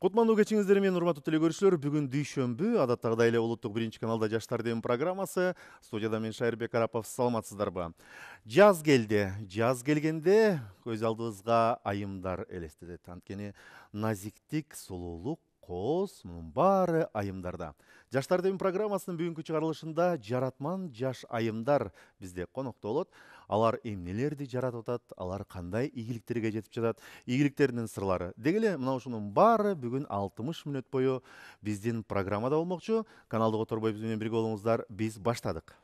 Кутмандуу кечиңиздер менен урматтуу телекөрүүчүлөр, бүгүн дүйшөмбү, адаттагыдай эле улуттук биринчи каналда Жаштар дем программасы. Студияда мен Шайырбек Арапов, саламатсыздарбы? Жаз келди. Жаз келгенде көз алдыбызга айымдар элестетет. Анткени назиктик, сулуулук, кооз, мунун баары айымдарда. Жаштар дем программасынын бүгүнкү чыгарылышында жаратман жаш айымдар бизде конокто болот. Алар эмнелерди жаратып атат, алар кандай ийгиликтерге жетип жатат, ийгиликтеринин сырлары. Деги эле мына ушунун баары бүгүн 60 мүнөт бою биздин программада болмокчу. Каналды которбой биз менен бирге болуңуздар. Биз баштадык.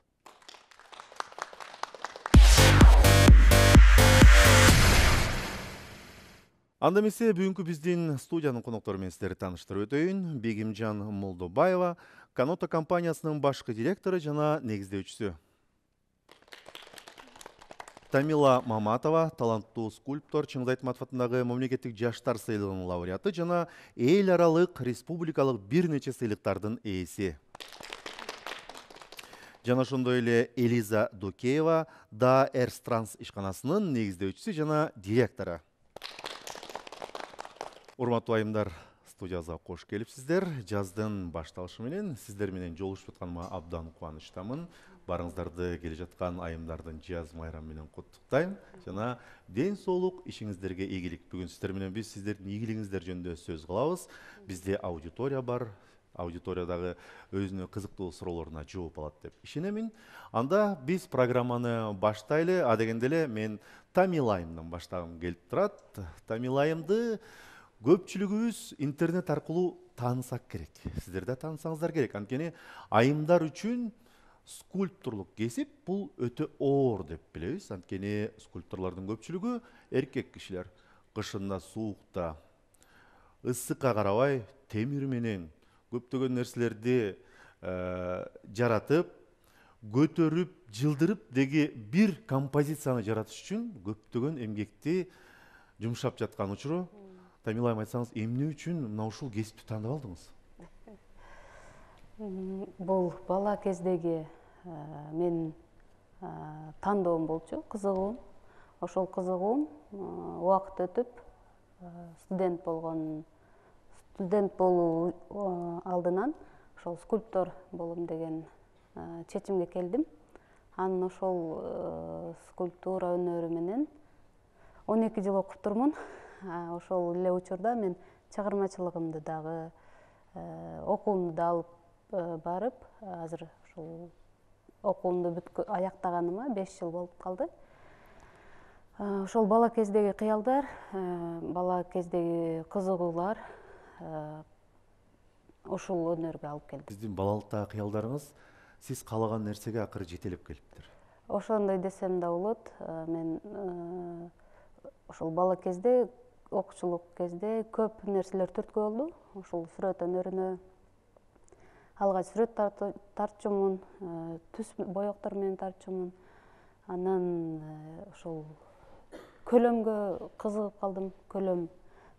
Анда эмесе бүгүнкү биздин студиянын коноктору менен сиздерди тааныштырып өтөйүн. Бегимжан Молдобаева, Каното компаниясынын башкы директору жана негиздөөчүсү. Тамила Маматова, таланттуу скульптор, Чыңгыз Айтматов атындагы мамлекеттик жаштар сыйлыгынын лауреаты жана эл аралык республикалык бир нече сыйлыктардын ээси. Жана ошондой эле Элиза Дукеева, Да Эрстранс ишканасынын негиздөөчүсү жана директору. Урматтуу айымдар, студиябызга кош келипсиздер. Жаздын башталышы менен сиздер менен жолугушуп атканыма абдан кубанычтамын. Барыңыздарды келе жаткан айымдардын жаз майрамы менен куттуктайм. Жана ден соолук, ишиңиздерге ийгилик. Бүгүн сиздер менен биз сиздердин ийгилигиңиздер жөнүндө сөз кылабыз. Бизде аудитория бар. Аудиториядагы өзүнө кызыктуу суроолоруна жооп алат деп ишеnemин. Анда биз программаны баштайлы. Адегенде эле мен Тамила айымдан баштагым келип турат. Тамила айымды көпчүлүгүбүз интернет аркылуу таанысак керек. Сиздер да таанысаңыздар керек. Анткени айымдар үчүн скульпторлук кесип бул өтө оор деп билебиз. Анткени скульпторлордун көпчүлүгү эркек кишилер. Кышында, суукта, ысыкка карабай темир менен көптөгөн нерселерди жаратып, көтөрүп, жылдырып деги бир композицияны жаратыш үчүн көптөгөн эмгекти жумшап жаткан учуру. Тамила айым, айтсаңыз, эмне үчүн мына ушул кесипти тандап алдыңыз? Бул бала кездеги мен тандоом болчу, кызыгуум. Ошол кызыгуум убакыт өтүп, студент болуу алдынан ошол скульптор болом деген чечимге келдим. Анын ошол скульптура өнөрү менен 12 жыл окуп турмун. Ошол эле учурда мен чыгармачылыгымды дагы, окуумду да алып барып, азыр ошол окуумду аяктаганыма 5 жыл болуп калды. Ошол бала кездеги кыялдар, бала кездеги кызыгуулар ушул өнөргө алып келди. Сиздин балалыктагы кыялдарыңыз сиз каалаган нерсеге акыры жетелеп келиптир. Ошондой десем да болот. Мен ошол бала кезде, окуучулук кезде көп нерселер түрткү болду. Ошол сүрөт өнөрүнө алгач сүрөт тартчумун, түс боектор менен тартчумун. Анан ошол көлөмгө кызыгып калдым. Көлөм,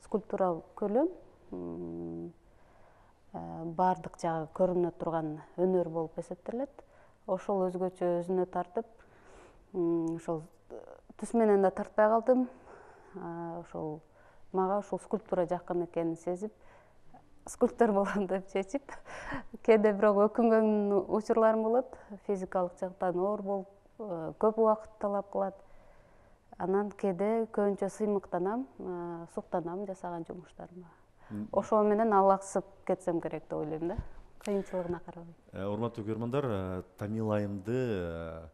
скульптура көлөм баардык жагы көрүнө турган өнөр болуп эсептелет. Ошол өзгөчө өзүнө тартып, ошол түс менен да тартпай калдым. Ошол мага ушул скульптура жакын экенин сезип, скульптор болом деп чечип, кээде бирок өкүнгөн учурларым болот. Физикалык жактан оор болуп, көп убакыт талап кылат. Анан кээде көбүнчө сыймыктанам, суктанам жасаган жумуштарыма. Ошо менен алаксып кетсем керек деп ойлойм да, кыйынчылыгына карабай. Урматтуу көрөрмандар, Тамила айымды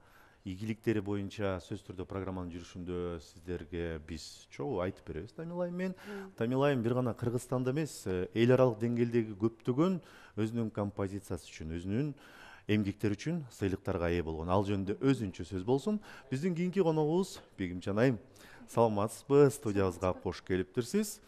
ийгиликтери боюнча сөзсүз түрдө программанын жүрүшүндө сиздерге биз чогуу айтып беребиз. Тамила айым менен. Тамила айым бир гана Кыргызстанда эмес, эл аралык деңгээлдеги көптөгөн өзүнүн композициясы үчүн, өзүнүн эмгектери үчүн сыйлыктарга ээ болгон. Ал жөнүндө өзүнчө сөз болсун. Биздин кийинки коногубуз Бегимжан айым. Саламатсызбы? Студиябызга кош келиптирсиз.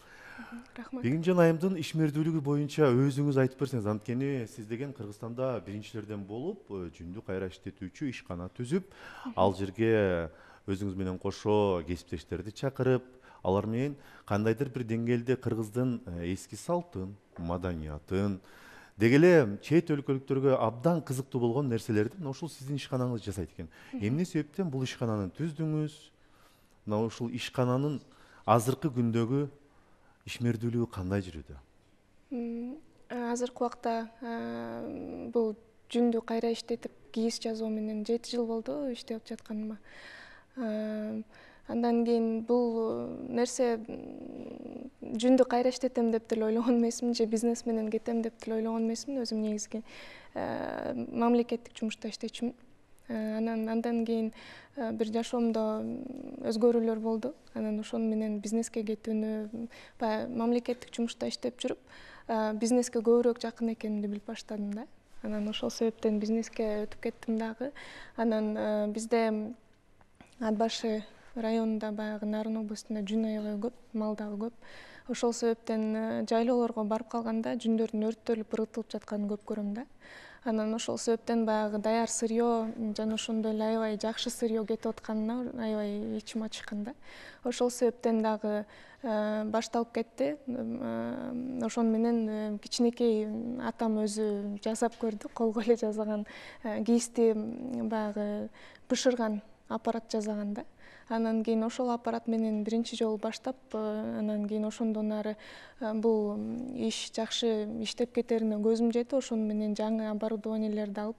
Рахмат. Бегимжан айымдын ишмердүүлүгү боюнча өзүңүз айтып берсеңиз, анткени сиз деген Кыргызстанда биринчилерден болуп, жүндү кайра иштетүүчү ишкана түзүп, ал жерге өзүңүз менен кошо кесиптештерди чакырып, алар менен кандайдыр бир деңгээлде кыргыздын эски салтын, маданиятын, деги эле чет өлкөлүктөргө абдан кызыктуу болгон нерселерди мына ушул сиздин ишканаңыз жасайт экен. Эмне себептен бул ишкананы түздүңүз? Мына ушул ишкананын азыркы күндөгү ишмердүүлүгү кандай жүрүүдө? Азыркы убакта бул жүндү кайра иштетип кийиз жазуу менен 7 жыл болду иштеп жатканыма. Андан кийин бул нерсе жүндү кайра иштетем деп деле ойлогон эмесмин, же бизнес менен кетем деп деле ойлогон эмесмин. Өзүм негизги мамлекеттик жумушта иштечүмүн. Андан кийин бир жашоомдо өзгөрүүлөр болду. Анан ошону менен бизнеске кетүүнү, баягы мамлекеттик жумушта иштеп жүрүп, бизнеске көбүрөөк жакын экенимди билип баштадым да. Анан ошол себептен бизнеске өтүп кеттим дагы. Анан бизде Ат башы районунда, баягы Нарын областында жүн аябай көп, мал дагы көп. Ошол себептен жайлоолорго барып калганда жүндөрдүн өрттөлүп, ыргытылып жатканын көп көрөм да. Анан ошол себептен баягы даяр сырьё жана ошондой эле аябай жакшы сырьё кетип атканына аябай ичим ачышкан да. Ошол себептен дагы башталып кетти. Ошону менен кичинекей атам өзү жасап көрдү, колго эле жасаган кийизди баягы бышырган аппарат жасаган да. Анан кийин ошол аппарат менен биринчи жолу баштап, анан кийин ошондон ары бул иш жакшы иштеп кетерине көзүм жетип, ошону менен жаңы оборудованиелерди алып,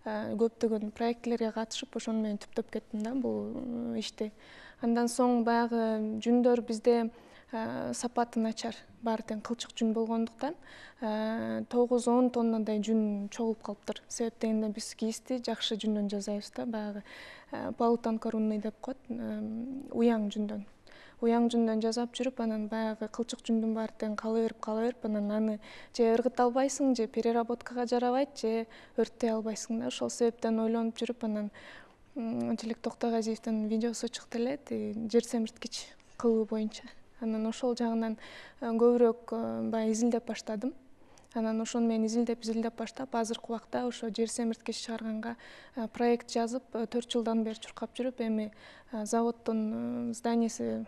көптөгөн проектлерге катышып, ошону менен түптөп кеттим да бул ишти. Андан соң баягы жүндөр бизде сапаты начар, баары тең кылчык жүн болгондуктан 9-10 тоннадай жүн чогулуп калыптыр. Себеп дегенде биз кийизди жакшы жүндөн жасайбыз да, баягы полутонко рунный деп коет, уяң жүндөн жасап жүрүп, анан баягы кылчык жүндүн баары тең кала берип, анан аны же ыргыта албайсың, же переработкага жарабайт, же өрттөй албайсың да. Ошол себептен ойлонуп жүрүп, анан Желек Токтогазиевдин видеосу чыкты эле, жер семирткич кылуу боюнча. Анан ошол жагынан көбүрөөк баягы изилдеп баштадым. Анан ошону менен изилдеп баштап, азыркы убакта ошо жер семирткич чыгарганга проект жазып, 4 жылдан бери чуркап жүрүп, эми заводдун зданияси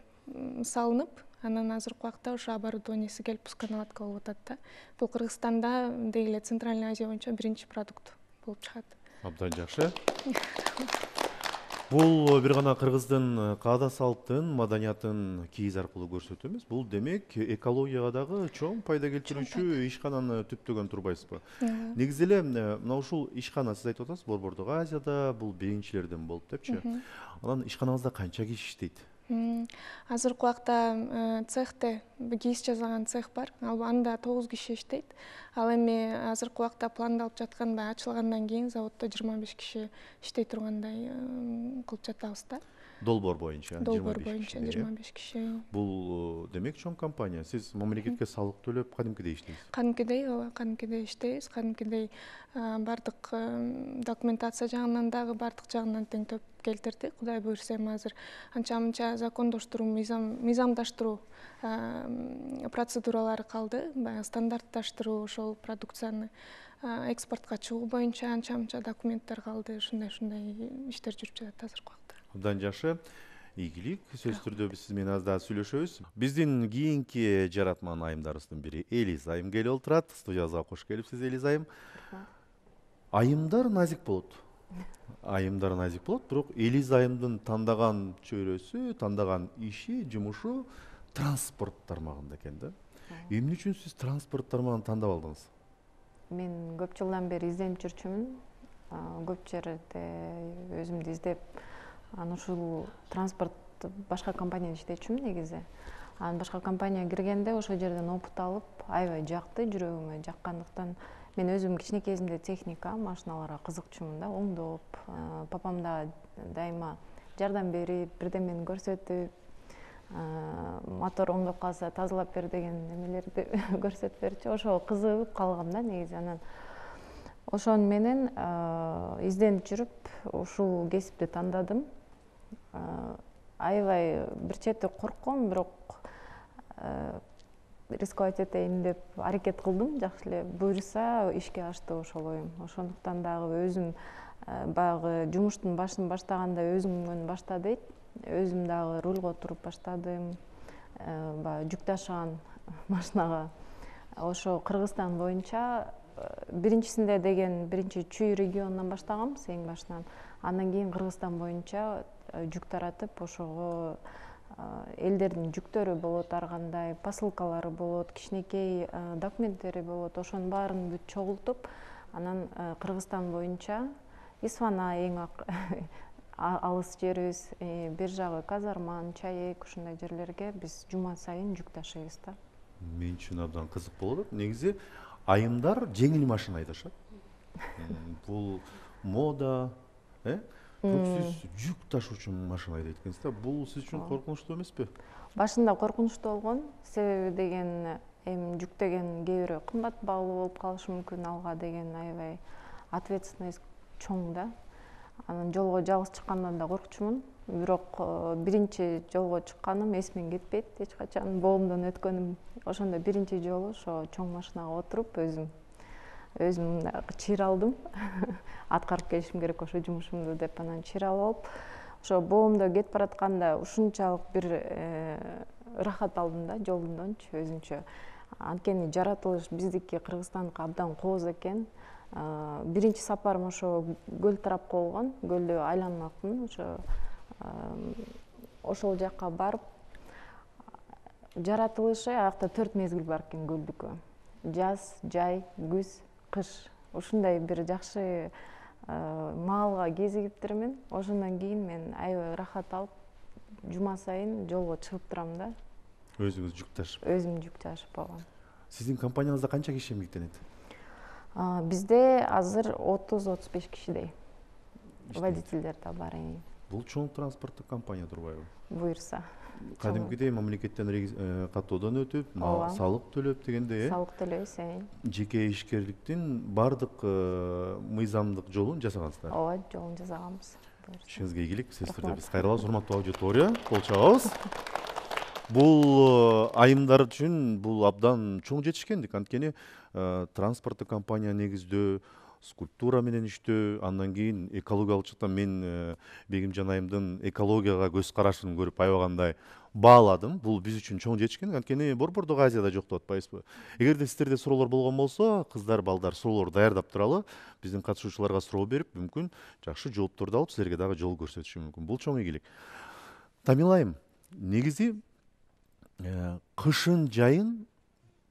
салынып, анан азыркы убакта ошо оборудованияси келип пусконаладка болуп атат да. Бул Кыргызстанда деги эле Центральный Азия боюнча биринчи продукт болуп чыгат. Абдан жакшы. Бул бир гана кыргыздын каада салттын, маданиятын кийиз аркылуу көрсөтүү эмес, бул демек экологияга дагы чоң пайда келтирүүчү ишкананы түптөгөн турбайсызбы? Негизи эле мына ушул ишкана, сиз айтып атасыз, Борбордук Азияда бул биринчилерден болуп депчи. Анан ишканаңызда канча киши иштейт? Азыркы убакта цехте кийиз жасаган цех бар. Анда 9 киши иштейт. Ал эми азыркы убакта пландалып жаткан, баягы ачылгандан кийин заводдо 25 киши иштей тургандай кылып жатабыз да. Долбоор боюнча 25 киши. Бул демек чоң компания. Сиз мамлекетке салык төлөп кадимкидей иштейсиз? Кадимкидей иштейбиз. Кадимкидей бардык документация жагынан дагы бардык жагынан теңдеп келтирдик. Кудай буйрса эми азыр анча-мынча закондоштуруу, мыйзамдаштыруу процедуралары калды. Баягы стандартташтыруу, ошол продукцияны экспортко чыгуу боюнча анча-мынча документтер калды. Ушундай иштер жүрүп жатат азыркы убакта. Абдан жакшы. Ийгилик. Сөзсүз түрдө биз сиз менен аз да сүйлөшөбүз. Биздин кийинки жаратман айымдарыбыздын бири Элиз айым келип отурат. Студиябызга кош келипсиз, Элиз айым. Айымдар назик болот. Бирок Элиз айымдын тандаган чөйрөсү, тандаган иши, жумушу транспорт тармагында экен да. Эмне үчүн сиз транспорт тармагын тандап алдыңыз? Мен көп жылдан бери изденип жүрчүмүн. Көп жерде өзүмдү издеп, ушул транспорт башка компанияда иштечүмүн негизи. Башка компанияга киргенде ошол жерден опыт алып, аябай жакты, жүрөгүмө жаккандыктан мен өзүм кичине кезимде техника, машиналарга кызыкчумун да, оңдоп, папам да дайыма жардам берип, бирдемени көрсөтүп, мотор оңдоп калса тазалап бер деген эмелерди көрсөтүп берчү. Ошого кызыгып калгам да негизи. Анан ошону менен изденип жүрүп, ушул кесипти тандадым. Аябай бир чети коркком, бирок рисковать этейин деп аракет кылдым. Жакшы эле буйруса ишке ашты ошол оюм. Ошондуктан дагы өзүм баягы жумуштун башын баштаганда өзүмдөн башта дейт. Өзүм дагы рульго туруп баштадым. Баягы жүк ташыган машинага ошо Кыргызстан боюнча биринчисинде деген биринчи Чүй регионунан баштагам, эң башынан. Андан кийин Кыргызстан боюнча жүк таратып, ошого элдердин жүктөрү болот, ар кандай посылкалары болот, кичинекей документтери болот, ошонун баарын бүт чогултуп, анан Кыргызстан боюнча Исфана эң алыс жерибиз, бир жагы Казарман, Чаек, ушундай жерлерге биз жума сайын жүк ташыйбыз да. Мен үчүн абдан кызык болуп атат. Негизи айымдар жеңил машина айдашат. Бул мода, сиз жүк ташуучу машина айдайт экенсиз да. Бул сиз үчүн коркунучтуу эмеспи? Башында коркунучтуу болгон, себеби деген эми жүк деген кээ бирөө кымбат баалуу болуп калышы мүмкүн, алга деген аябай ответственность чоң да. Анан жолго жалгыз чыккандан да коркчумун. Бирок биринчи жолго чыкканым эсимден кетпейт эч качан. Боомдон өткөнүм ошондо биринчи жолу ошо чоң машинага отуруп өзүм чыйралдым. Аткарып келишим керек ошо жумушумду деп анан чыйралып алып, ошо боомдо кетип баратканда ушунчалык бир ырахат алдым да жолдончу өзүнчө. Анткени жаратылыш биздики Кыргызстандыкы абдан кооз экен. Биринчи сапарым ошо көл тарапка болгон, көлдү айланмакмын. Ошол жакка барып, жаратылышы аякта 4 мезгил бар экен көлдүкү. Жаз, жай, күз, кыш. Ушундай бир жакшы маалга кезигиптирмин. Ошондон кийин мен аябай ырахат алып, жума сайын жолго чыгып турам да. Өзүңүз жүк ташып? Өзүм жүк ташып болгом. Сиздин компанияңызда канча киши эмгектенет? Бизде азыр 30-35 кишидей. Водительдер да бар. Бул чоң транспорттук компания турбайбы? Буюрса. Кадимкидей мамлекеттен каттоодон өтүп, салык төлөп дегендей, салык төлөйбүз. Жеке ишкерликтин бардык мыйзамдык жолун жасагансыздар. Ооба, жолун жасаганбыз. Ишиңизге ийгилик. Сөзсүз түрдө биз кайрылабыз. Урматтуу аудитория, кол чабабыз. Бул айымдар үчүн бул абдан чоң жетишкендик. Анткени транспорттук компания негиздөө, скульптура менен иштөө, андан кийин экологиялык жактан мен Бегимжан айымдын экологияга көз карашын көрүп аябагандай бааладым. Бул биз үчүн чоң жетишкендик. Анткени Борбордук Азияда жок деп атпайбызбы? Эгерде сиздерде суроолор болгон болсо, кыздар, балдар суроолор даярдап туралы, биздин катышуучуларга суроо берип, мүмкүн жакшы жоопторду алып, силерге дагы жол көрсөтүшү мүмкүн. Бул чоң ийгилик. Тамила айым, негизи кышын, жайын,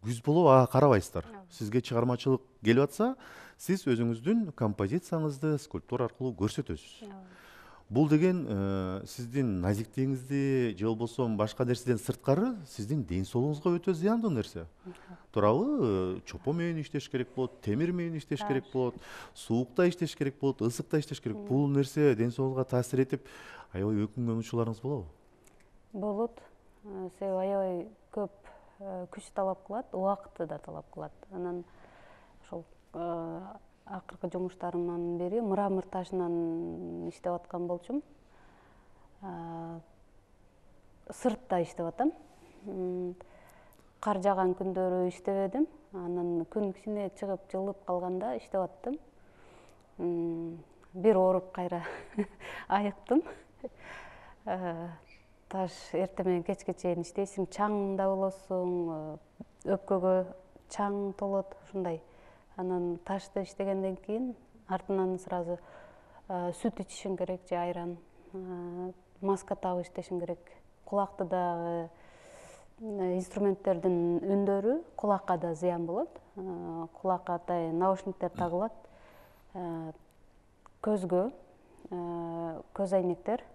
күз болуп ага карабайсыздар. Сизге чыгармачылык келип атса, сиз өзүңүздүн композицияңызды скульптура аркылуу көрсөтөсүз. Бул деген сиздин назиктигиңизди же болбосо башка нерседен сырткары сиздин ден соолугуңузга өтө зыяндуу нерсе. Туурабы? Чопо менен иштеш керек болот, темир менен иштеш керек болот, суукта иштеш керек болот, ысыкта иштеш керек. Бул нерсе ден соолугуңузга таасир этип, аябай өкүнгөн учурларыңыз болобу? Болот. Себеби аябай көп күч талап кылат, убакытты да талап кылат. Анан ошол акыркы жумуштарымдан бери мрамор ташынан иштеп аткан болчумун. Сыртта иштеп атам. Кар жааган күндөрү иштебедим. Анан күн кичине чыгып жылып калганда иштеп аттым. Бир ооруп кайра айыктым. Таш эртең менен кечке чейин иштейсиң, чаң да болосуң, өпкөгө чаң толот, ушундай. Анан ташты иштегенден кийин артынан сразу сүт ичишиң керек же айран, маска тагып иштешиң керек. Кулакты дагы инструменттердин үндөрү кулакка да зыян болот. Кулакка атайын наушниктер тагылат. Көзгө көз айнектер.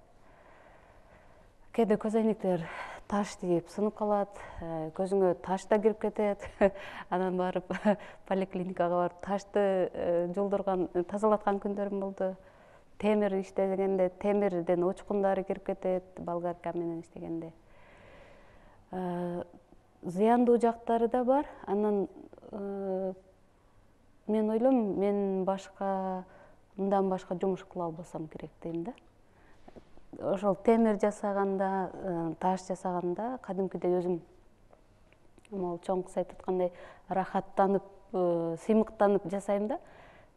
Кээде көз айнектер таш тийип сынып калат, көзүңө таш да кирип кетет. Анан барып поликлиникага барып ташты жолдурган, тазалаткан күндөрүм болду. Темир иштегенде темирден учкундары кирип кетет, болгарка менен иштегенде. Зыяндуу жактары да бар. Анан мен ойлойм, мен мындан башка жумуш кыла албасам керек дейм да. Ошол темир жасаганда, таш жасаганда кадимкидей өзүм могул чоң кыз айтып аткандай рахаттанып, сыймыктанып жасайм да.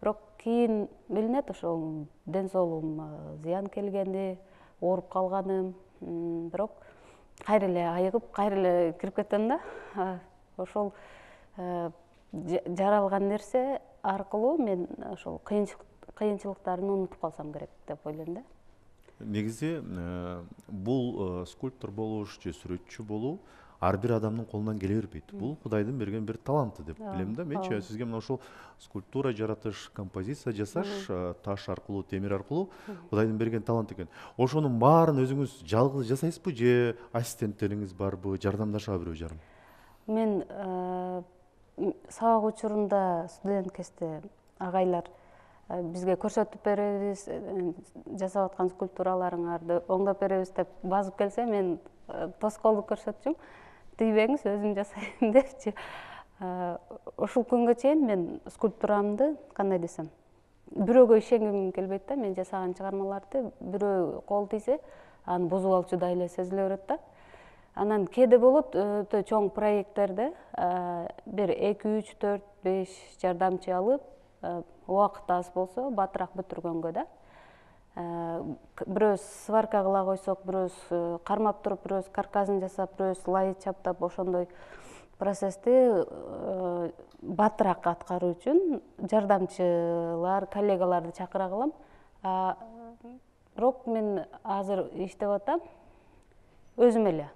Бирок кийин билинет ошол ден соолугума зыян келгени, ооруп калганым. Бирок кайра эле айыгып, кайра эле кирип кетем да. Ошол жаралган нерсе аркылуу мен ошол кыйынчылыктарын унутуп калсам керек деп ойлойм да. негизи бул скульптор болуш же сүрөтчү болуу ар бир адамдын колунан келе бербейт. Бул Кудайдын берген бир таланты деп билем да. Менчи сизге мына ушул скульптура жаратыш, композиция жасаш, таш аркылуу, темир аркылуу Кудайдын берген талант экен. Ошонун баарын өзүңүз жалгыз жасайсызбы же ассистенттериңиз барбы, жардамдашабы бирөө жарым? Мен сабак учурунда студент кезде агайлар бизге көрсөтүп беребиз, жасап аткан скульптураларыңарды оңдоп беребиз деп базып келсе, мен тоскоолдук көрсөтчүмүн. Тийбеңиз, өзүм жасайм депчи. Ушул күнгө чейин мен скульптурамды кандай десем, бирөөгө ишенгим келбейт да. Мен жасаган чыгармаларды бирөө кол тийсе, аны бузуп алчудай эле сезиле берет да. Анан кээде болот өтө чоң проекттерде бир 2, 3, 4, 5 жардамчы алып, убакыт аз болсо батыраак бүтүргөнгө да. Бирөөс сварка кыла койсок, бирөөс кармап туруп, бирөөс каркасын жасап, бирөөс лайт чаптап, ошондой процессти батыраак аткаруу үчүн жардамчылар, коллегаларды чакыра калам. Бирок мен азыр иштеп атам өзүм эле.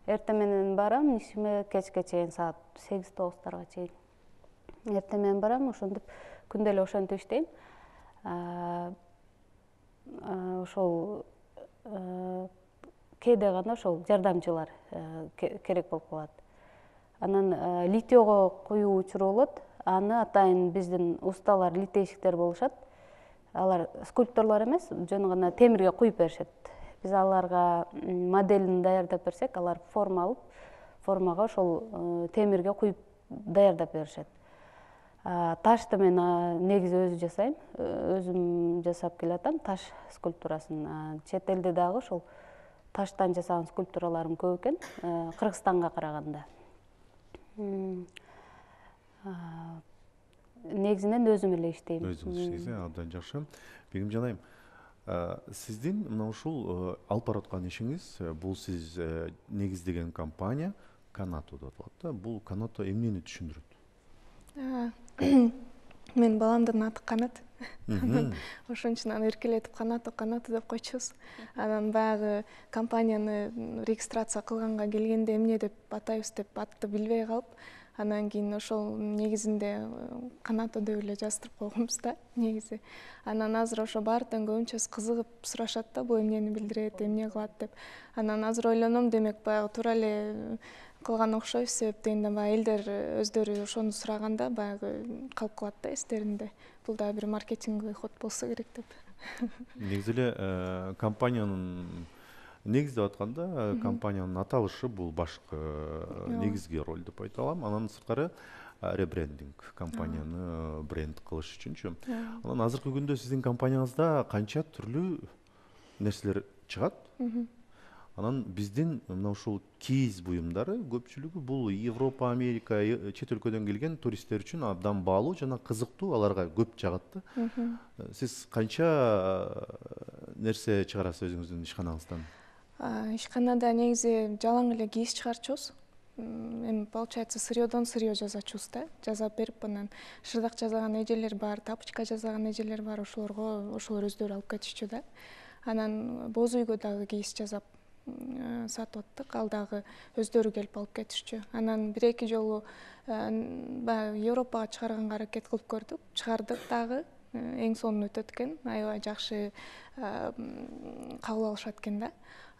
Эртең менен барам, ишиме кечке чейин саат 8-9 чейин. Эртең менен барам, ошентип күндө эле ошентип иштейм. Ошол кээде гана ошол жардамчылар керек болуп калат. Анан литеого куюу учуру болот. Аны атайын биздин усталар, литейщиктер болушат. Алар скульпторлор эмес, жөн гана темирге куюп беришет. Биз аларга моделин даярдап берсек, алар форма алып, формага ошол темирге куюп даярдап беришет. Ташты мен негизи өзү жасайм. Өзүм жасап келатам таш скульптурасын. Чет элде дагы ошол таштан жасаган скульптураларым көп экен, Кыргызстанга караганда. Негизинен өзүм эле иштейм. Өзүңүз иштейсиз, абдан жакшы. Бегим жанайым, сиздин мына ушул алып бараткан ишиңиз, бул сиз негиздеген компания Канато деп аталат да. Бул Канато эмнени түшүндүрөт? Мен баламдын аты Канат. Ошон үчүн аны эркелетип Канато деп койчубуз. Анан баягы компанияны регистрация кылганга келгенде эмне деп атайбыз деп атты билбей калып, анан кийин ошол негизинде Канато деп эле жаздырып койгонбуз да негизи. Анан азыр ошо баардын көбүнчөсү кызыгып сурашат да, бул эмнени билдирет, эмне кылат деп. Анан азыр ойлоном, демек баягы туура эле кылган окшойбуз, себеп дегенде баягы элдер өздөрү ошону сураганда баягы калып калат да эстеринде. Бул да бир маркетинговый ход болсо керек деп. Негизи эле компаниянын негиздеп атканда компаниянын аталышы бул башкы негизги роль деп айта алам. Анан сырткары ребрендинг, компанияны бренд кылыш үчүнчү. Анан азыркы күндө сиздин компанияңызда канча түрлүү нерселер чыгат. Анан биздин мына ушул кийиз буюмдары көпчүлүгү бул Европа, Америка, чет өлкөдөн келген туристтер үчүн абдан баалуу жана кызыктуу, аларга көп жагат да. Сиз канча нерсе чыгарасыз өзүңүздүн ишканаңыздан? Ишканада негизи жалаң эле кийиз чыгарчубуз. Эми получается сырьёдон сырьё жасачубуз да. Жасап берип, анан шырдак жасаган эжелер бар, тапочка жасаган эжелер бар, ошолор өздөрү алып кетишчү да. Анан боз үйгө дагы кийиз жасап сатып аттык, ал дагы өздөрү келип алып кетишчү. Анан 1-2 жолу баягы Европага чыгарганга аракет кылып көрдүк, чыгардык дагы. Эң сонун өтөт экен, аябай жакшы кабыл алышат экен да.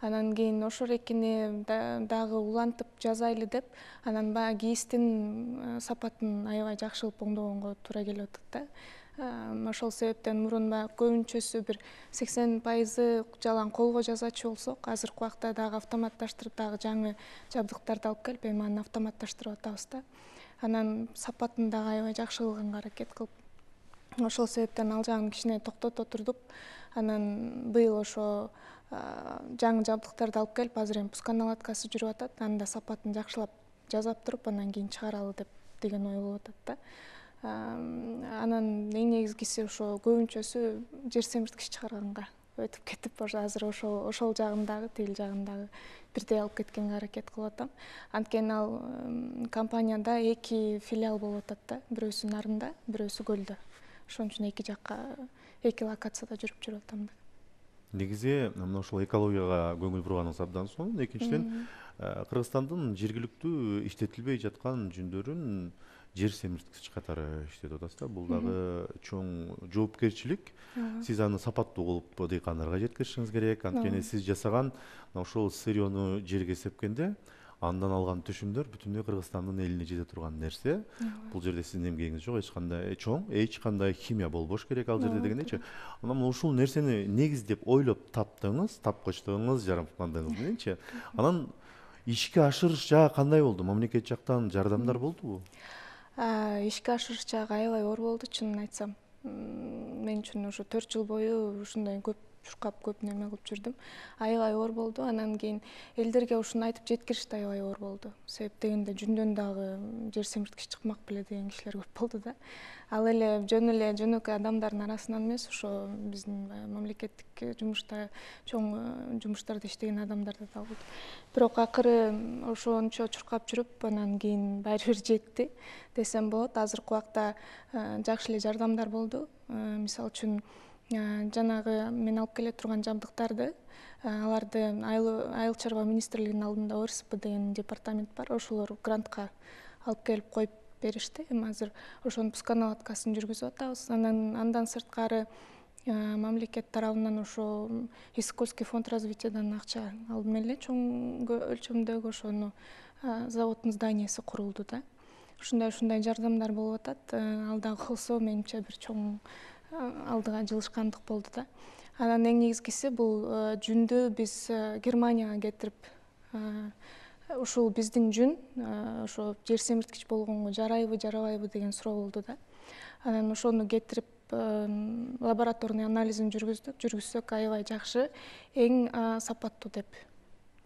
Анан кийин ошол экини дагы улантып жазайлы деп, анан баягы кийиздин сапатын аябай жакшы кылып оңдогонго туура келип атат да. Ошол себептен мурун баягы көбүнчөсү бир 80% жалаң колго жасачу болсок, азыркы убакта дагы автоматташтырып, дагы жаңы жабдыктарды алып келип, эми аны автоматташтырып атабыз да. Анан сапатын дагы аябай жакшы кылганга аракет кылып, ошол себептен ал жагын кичине токтото турдук. Анан быйыл ошо жаңы жабдыктарды алып келип, азыр эми пусконаладкасы жүрүп атат. Аны да сапатын жакшылап жасап туруп, анан кийин чыгаралы деген ой болуп атат да. Анан эң негизгиси ошо көбүнчөсү жер семирткич чыгарганга өтүп кетип, азыр ошол жагындагы, тил жагындагы бирдей алып кеткенге аракет кылып атам. Анткени ал компанияда 2 филиал болуп атат да. Бирөөсү Нарында, бирөөсү Көлдө. Ошон үчүн 2 жакка, 2 локацияда жүрүп атам да. Негизи мына ошол экологияга көңүл бурганыңыз абдан сонун. Экинчиден, Кыргызстандын жергиликтүү иштетилбей жаткан жүндөрүн жер семирткич катары иштетип атасыз да. Бул дагы чоң жоопкерчилик. Сиз аны сапаттуу кылып дыйкандарга жеткиришиңиз керек. Анткени сиз жасаган ошол сырьёну жерге сепкенде андан алган түшүмдөр бүтүндөй Кыргызстандын элине жете турган нерсе. Бул жерде сиздин эмгегиңиз жок, эч кандай химия болбош керек ал жерде дегендейчи. Анан ушул нерсени негиздеп ойлоп таптыңыз, тапкычтыгыңыз, жараткандыгыңыз мененчи. Анан ишке ашырыш жагы кандай болду? Мамлекет жактан жардамдар болдубу? Ишке ашырыш жагы аябай оор болду, чынын айтсам. Мен үчүн ушу 4 жыл бою ушундай көп чуркап, көп неме кылып жүрдүм. Аябай оор болду. Анан кийин элдерге ушуну айтып жеткириш да аябай оор болду. Себеп дегенде жүндөн дагы жер семирткич чыкмак беле деген кишилер көп болду да. Ал эле жөнөкөй адамдардын арасынан эмес, ошо биздин мамлекеттик жумушта, чоң жумуштарда иштеген адамдарда да болду. Бирок акыры ошончо чуркап жүрүп, анан кийин баары бир жетти десем болот. Азыркы убакта жакшы эле жардамдар болду. Мисалы үчүн жанагы мен алып келе турган жабдыктарды, аларды Айыл чарба министрлигинин алдында ОРСП деген департамент бар, ошолор грантка алып келип коюп беришти. Эми азыр ошонун пусконаладкасын жүргүзүп атабыз. Андан сырткары мамлекет тарабынан ошо Исыкольский фонд развитиядан акча алдым эле чоң өлчөмдөгү ошону заводдун зданиясы курулду да. Ушундай жардамдар болуп атат. Ал дагы кылса менимче бир чоң алдыга жылышкандык болду да. Анан эң негизгиси бул жүндү биз Германияга кетирип, ушул биздин жүн ошо жер семирткич болгонго жарайбы, жарабайбы деген суроо болду да. Анан ошону кетирип лабораторный анализин жүргүзсөк аябай жакшы, эң сапаттуу деп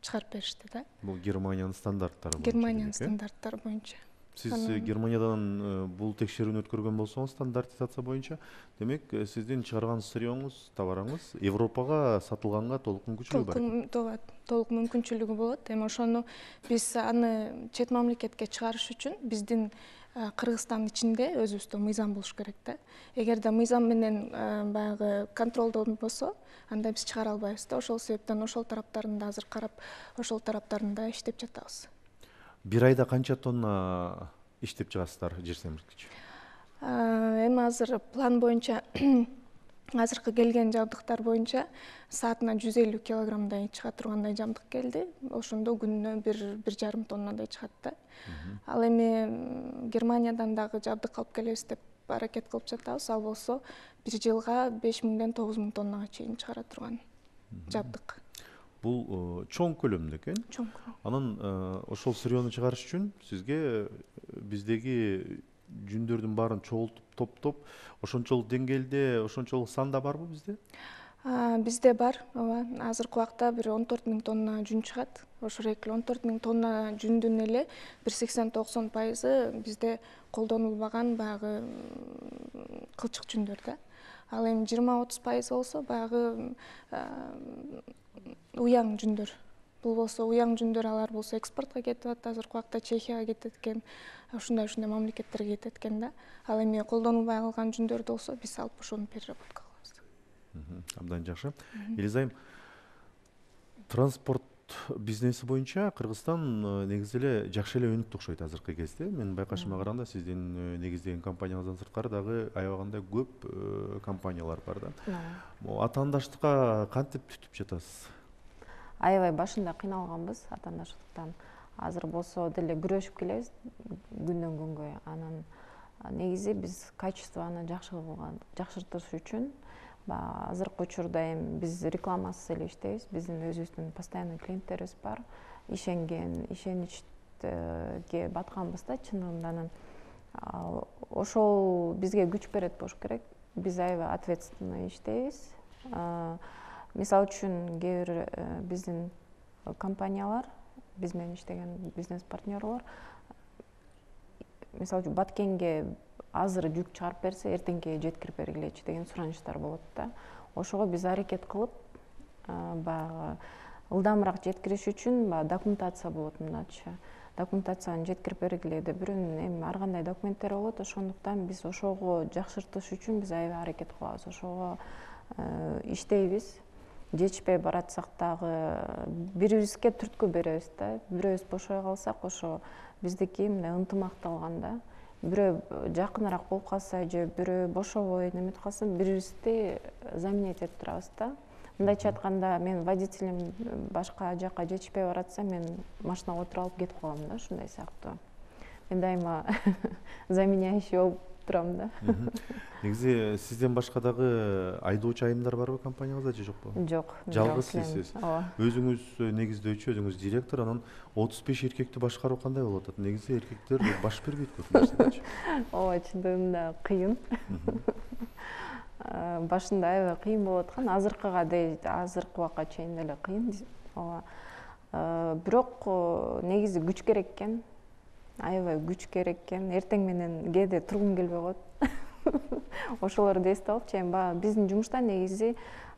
чыгарып беришти да. Бул Германиянын стандарттары боюнча. Германиянын стандарттары боюнча. Сиз Германиядан бул текшерүүнү өткөргөн болсоңуз, стандартизация боюнча, демек сиздин чыгарган сырьёңуз, товарыңыз Европага сатылганга толук мүмкүнчүлүгү бар. Толук мүмкүнчүлүгү болот. Эми ошону биз аны чет мамлекетке чыгарыш үчүн биздин Кыргызстандын ичинде өзүбүздө мыйзам болуш керек да. Эгерде мыйзам менен баягы контролдонбосо, анда биз чыгара албайбыз да. Ошол себептен ошол тараптарын да азыр карап, ошол тараптарын да иштеп жатабыз. Бир айда канча тонна иштеп чыгасыздар жер семирткич? Эми азыр план боюнча азыркы келген жабдыктар боюнча саатына 150 килограммдай чыга тургандай жабдык келди. Ошондо күнүнө 1,5 тоннадай чыгат да. Ал эми Германиядан дагы жабдык алып келебиз деп аракет кылып жатабыз. Ал болсо бир жылга 5000ден 9000 тоннага чейин чыгара турган жабдык. Бул чоң көлөмдө экен. Чоң. Анан ошол сырьёну чыгарыш үчүн сизге биздеги жүндөрдүн баарын чогултуп, топтоп, ошончолук деңгээлде, ошончолук санда барбы бизде? Бизде бар, ооба. Азыркы убакта бир 14 000 тонна жүн чыгат. Ошо эле 14 000 тонна жүндүн эле 80-90% бизде колдонулбаган баягы кылчык жүндөр да. Ал эми 20-30% болсо баягы уяң жүндөр. Бул болсо уяң жүндөр, алар болсо экспортко кетип атат. Азыркы убакта Чехияга кетет экен, ушундай мамлекеттерге кетет экен да. Ал эми колдонулбай калган жүндөрдү болсо биз алып ошону переработка кылабыз. Абдан жакшы. Элизайым, транспорт бизнеси боюнча Кыргызстан негизи эле жакшы эле өнүктү окшойт азыркы кезде. Менин байкашыма караганда сиздин негиздеген компанияңыздан сырткары дагы аябагандай көп компаниялар бар да. Атаандаштыкка кантип түтүп жатасыз? Аябай башында кыйналганбыз атаандаштыктан. Азыр болсо деле күрөшүп келебиз күндөн күнгө. Анан негизи биз качествону жакшыртыш үчүн азыркы учурда эми биз рекламасыз эле иштейбиз. Биздин өзүбүздүн постоянный клиенттерибиз бар. Ишеничке батканбыз да чынында. Анан ошол бизге күч берет болуш керек. Биз аябай ответственно иштейбиз. Мисалы үчүн кээ бир биздин компаниялар, биз менен иштеген бизнес партнерлор, мисалы үчүн Баткенге азыр жүк чыгарып берсе, эртеңки жеткирип бергилечи деген суранычтар болот да. Ошого биз аракет кылып, баягы ылдамыраак жеткириш үчүн документация болот мындачы. Документацияны жеткирип бергиле деп эми ар кандай документтер болот. Ошондуктан биз ошого жакшыртыш үчүн биз аябай аракет кылабыз. Ошого иштейбиз. жетишпей баратсак дагы бири-бирибизге түрткү беребиз да. Бирөөбүз бошой калсак, ошо биздики мындай ынтымакталган да. Бирөө жакыныраак болуп калса же бирөө бошобой неметип калса, бири-бирибизди заменять этип турабыз да. Мындайча айтканда, мен водителим башка жака жетишпей баратса, мен машинага отуруп алып кетип калам да, ушундай сыяктуу. Мен дайыма заменяющий болуп турам да. Негизи сизден башка дагы айдоочу айымдар барбы компаниябызда же жокпу? Жок. Жалгыз сизсиз. Өзүңүз негиздөөчү, өзүңүз директор, анан 35 эркекти башкаруу кандай болуп атат? Негизи эркектер баш бербейт көп нерседечи. Ооба, чындыгында кыйын. Башында аябай кыйын болуп аткан, азыркы убакка чейин деле кыйын. Ооба. Бирок негизи күч керек экен. Аябай күч керек экен. Эртең менен кээде тургум келбей коет. Ошолорду эстеп алып, чейин баягы биздин жумушта негизи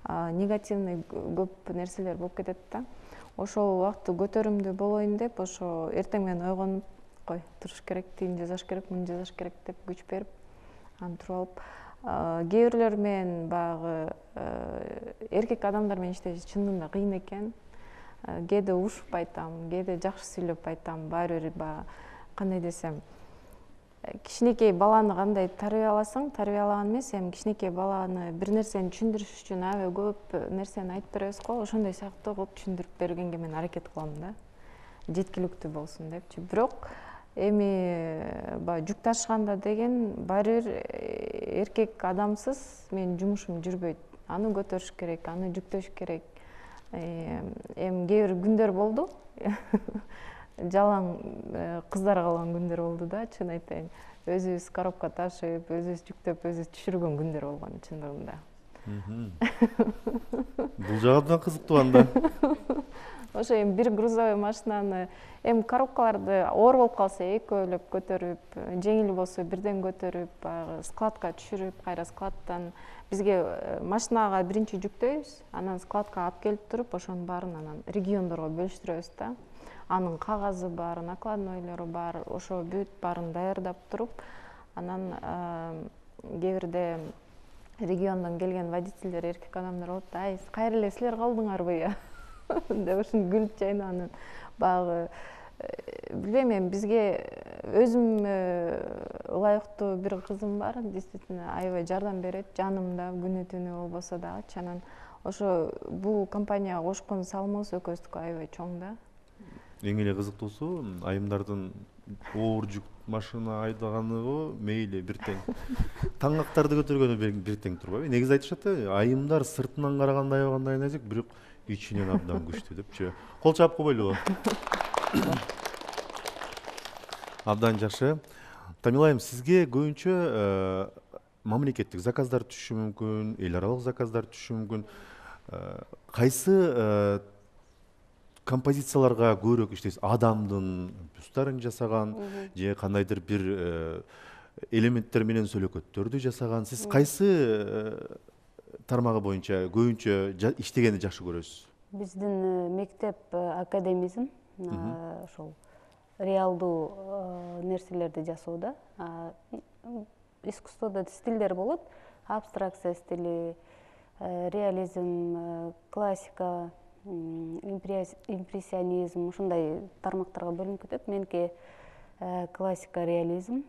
негативный көп нерселер болуп кетет да. Ошол убакытты көтөрүмдүү болоюн деп, ошо эртең менен ойгонуп, кой, туруш керек, тигин жасаш керек, муну жасаш керек деп күч берип, аны туруп алып, кээ бирлер менен баягы эркек адамдар менен иштеш чындыгында кыйын экен. Кээде урушуп айтам, кээде жакшы сүйлөп айтам, баары бир баягы кандай десем, кичинекей баланы кандай тарбияласаң, тарбиялаган эмес, эми кичинекей баланы бир нерсени түшүндүрүш үчүн аябай көп нерсени айтып беребиз го, ошондой сыяктуу кылып түшүндүрүп бергенге мен аракет кылам да, жеткиликтүү болсун депчи. Бирок эми баягы жүк ташыганда деген баары бир эркек адамсыз менин жумушум жүрбөйт. Аны көтөрүш керек, аны жүктөш керек. Эми кээ бир күндөр болду. Жалаң кыздар калган күндөр болду да, чын айтайын. Өзүбүз коробка ташып, өзүбүз жүктөп, өзүбүз түшүргөн күндөр болгон чындыгында. Бул жагы абдан кызыктуу анда. Ошо эми бир грузовой машинаны, эми коробкаларды оор болуп калса экөөлөп көтөрүп, жеңил болсо бирден көтөрүп, баягы складка түшүрүп, кайра складтан бизге машинага биринчи жүктөйбүз, анан складка алып келип туруп, ошонун баарын анан региондорго бөлүштүрөбүз да. Анын кагазы бар, накладнойлору бар, ошо бүт баарын даярдап туруп, анан кээ бирде региондон келген водительдер, эркек адамдар болот, ай, кайра эле силер калдыңарбы деп ушинтип күлүп жайнап, анан баягы билбейм, эми бизге өзүм ылайыктуу бир кызым бар, действительно аябай жардам берет, жанымда күнү түнү болбосо дагычы. Анан ошо бул компанияга кошкон салымыбыз экөөбүздүкү аябай чоң да. Эң эле кызыктуусу айымдардын оор жүк машина айдаганыбы мейли бир тең. Таңактарды көтөргөнү бир тең турбайбы? Негизи айтышат, айымдар сыртынан караганда аябагандай нажик, бирок ичинен абдан күчтүү депчи. Кол чаап койбойлубу? Абдан жакшы. Тамила айым, сизге көбүнчө мамлекеттик заказдар түшүшү мүмкүн, эл аралык заказдар түшүшү мүмкүн. Кайсы композицияларга көбүрөөк иштейсиз? Адамдын бюстарын жасаган же кандайдыр бир элементтер менен сөйлөкөттөрдү жасаган? Сиз кайсы тармагы боюнча көбүнчө иштегенди жакшы көрөсүз? Биздин мектеп академизм ошол реалдуу нерселерди жасоодо. Искусстводо стилдер болот. Абстракция стили, реализм, классика, импрессионизм, ушундай тармактарга бөлүнүп кетет. Меники классика, реализм.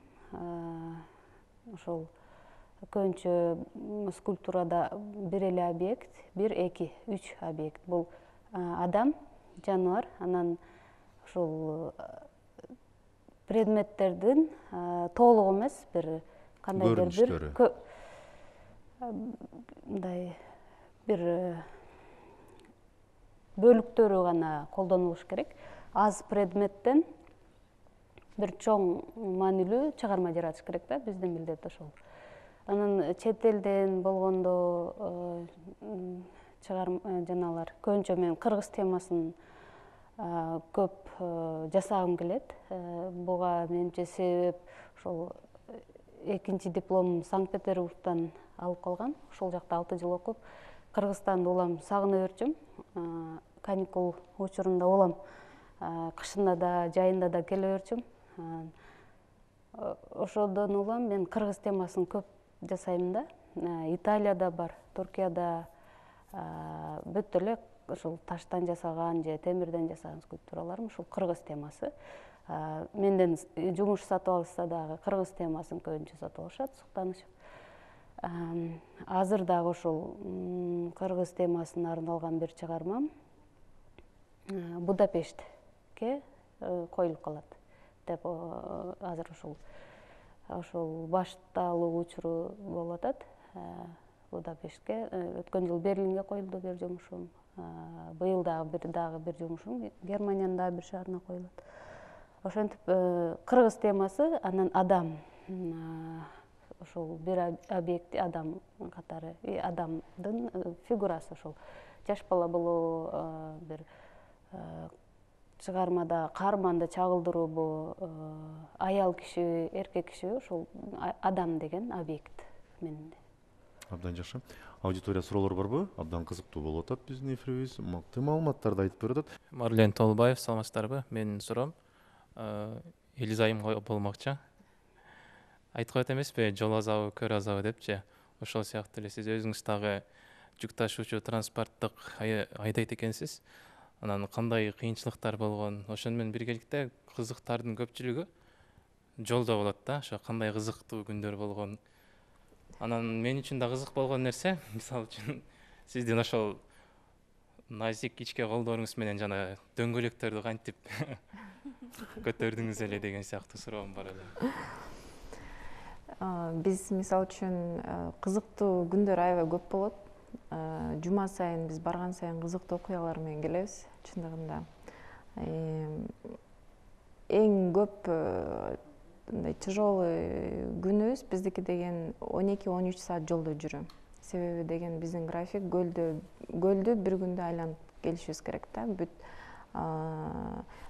Ошол көбүнчө скульптурада бир эле объект, бир, эки, үч объект. Бул адам, жаныбар, анан ошол предметтердин толугу эмес, бир кандайдыр бир мындай бир бөлүктөрү гана колдонулуш керек. Аз предметтен бир чоң маанилүү чыгарма жаратыш керек да, биздин милдет ошол. Анан чет элден болгондо жанагылар көбүнчө мен кыргыз темасын көп жасагым келет. Буга менимче себеп ошол экинчи дипломум Санкт-Петербургтан алып калгам. Ошол жакта 6 жыл окуп, Кыргызстанды улам сагына берчүм. Каникул учурунда улам кышында да, жайында да келе берчүм. Ошодон улам мен кыргыз темасын көп жасайм да. Италияда бар, Туркияда, бүт эле ушул таштан жасаган же темирден жасаган скульптураларым ушул кыргыз темасы. Менден жумуш сатып алышса дагы кыргыз темасын көбүнчө сатып алышат, суктанышып. Азыр дагы ушул кыргыз темасына арналган бир чыгармам Будапештке коюлуп калат деп азыр ушул башталуу учуру болуп атат. Будапештке өткөн жыл Берлинге коюлду бир жумушум. Быйыл дагы бир жумушум Германиянын дагы бир шаарына коюлат. Ошентип кыргыз темасы, анан адам, ошол бир объект адам катары, адамдын фигурасы ошол жаш бала болобу, бир чыгармада каарманды чагылдыруубу, аял кишиби, эркек кишиби, ошол адам деген объект менде. Абдан жакшы. Аудитория суроолор барбы? Абдан кызыктуу болуп атат биздин эфирибиз. Мыкты маалыматтарды айтып берип атат. Марлен Толбаев, саламатсыздарбы? Менин суроом Элизайым болмокчу. Айтып коет эмеспи, жол азабы, көр азабы депчи. Ошол сыяктуу эле сиз өзүңүз дагы жүк ташуучу транспорттук айдайт экенсиз. Анан кандай кыйынчылыктар болгон? Ошону менен биргеликте кызыктардын көпчүлүгү жолдо болот да. Ошо кандай кызыктуу күндөр болгон? Анан мен үчүн да кызык болгон нерсе, мисалы үчүн сиздин ошол назик ичке колдоруңуз менен жана дөңгөлөктөрдү кантип көтөрдүңүз эле деген сыяктуу суроом бар эле. Биз мисалы үчүн кызыктуу күндөр аябай көп болот. Жума сайын биз барган сайын кызыктуу окуялар менен келебиз. Чындыгында эң көп мындай тяжелый күнүбүз биздики деген 12-13 саат жолдо жүрүү. Себеби деген биздин график гөлдү бир күндө айланып келишибиз керек да. Бүт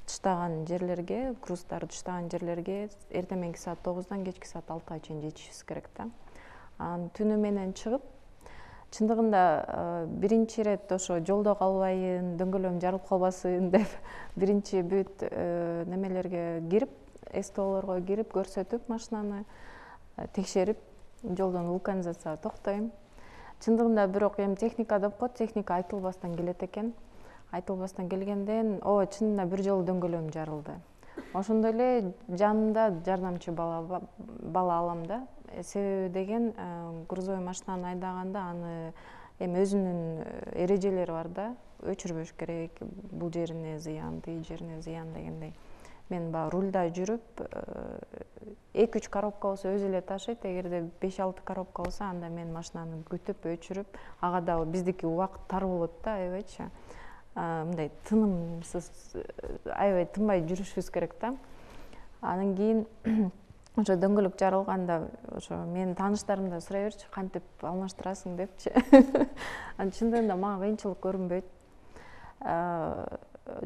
тыштаган жерлерге, круздар тыштаган жерлерге эртең саат 9-дан кечки саат 6-га чейин жетишибиз керек да. Анан түнү менен чыгып, чындыгында биринчи ирет ошо жолдо калбайын, дөңгөлөгүм жарылып калбасын деп биринчи бүт немелерге кирип, СТОлорго кирип, көрсөтүп машинаны, текшерип, жолдон вулканизацияга токтойм. Чындыгында бирок эми техника деп коет, техника айтылбастан келет экен. Айтылбастан келгенден, чынында бир жолу дөңгөлөгүм жарылды. Ошондой эле жанымда жардамчы бала алам да. Себеби деген грузовой машинаны айдаганда аны эми өзүнүн эрежелери бар да. Өчүрбөш керек, бул жерине зыян, тиги жерине зыян дегендей. Мен баягы рульда жүрүп 2-3 коробка болсо өзү эле ташыйт, эгерде 5-6 коробка болсо анда мен машинаны күтүп, өчүрүп, ага дагы биздики убакыт тар болот да, аябайчы. Мындай тынымсыз, аябай тынбай жүрүшүбүз керек да. Анан кийин ошо дөңгөлөк жарылганда ошо менин тааныштарым да сурай берчү, кантип алмаштырасың депчи. Анан чындыгында мага кыйынчылык көрүнбөйт.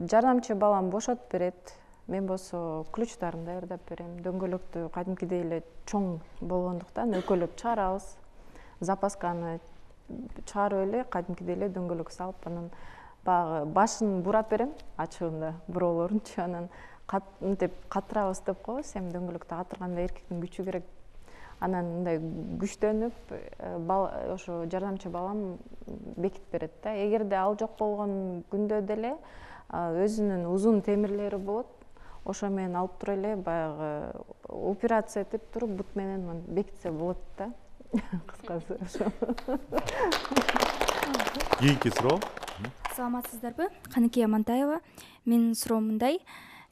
Жардамчы балам бошотуп берет. Мен болсо ключтарын даярдап берем. Дөңгөлөктү кадимкидей эле чоң болгондуктан өкөлөп чыгарабыз. Запасканы чыгарып эле кадимкидей эле дөңгөлөк салып, анан баягы башын бурап берем, ачыгында буроолорунчу. Анан мынтип катырабыз деп коебуз, эми дөңгөлөктү катырганда эркектин күчү керек. Анан мындай күчтөнүп, ошо жардамчы балам бекитип берет да. Эгерде ал жок болгон күндө деле өзүнүн узун темирлери болот. Ошо менен алып туруп эле баягы операция этип туруп бут менен бекитсе болот да. Кыскасы ошо. Кийинки суроо. Саламатсыздарбы? Каныкей Амантаева. Менин суроом мындай.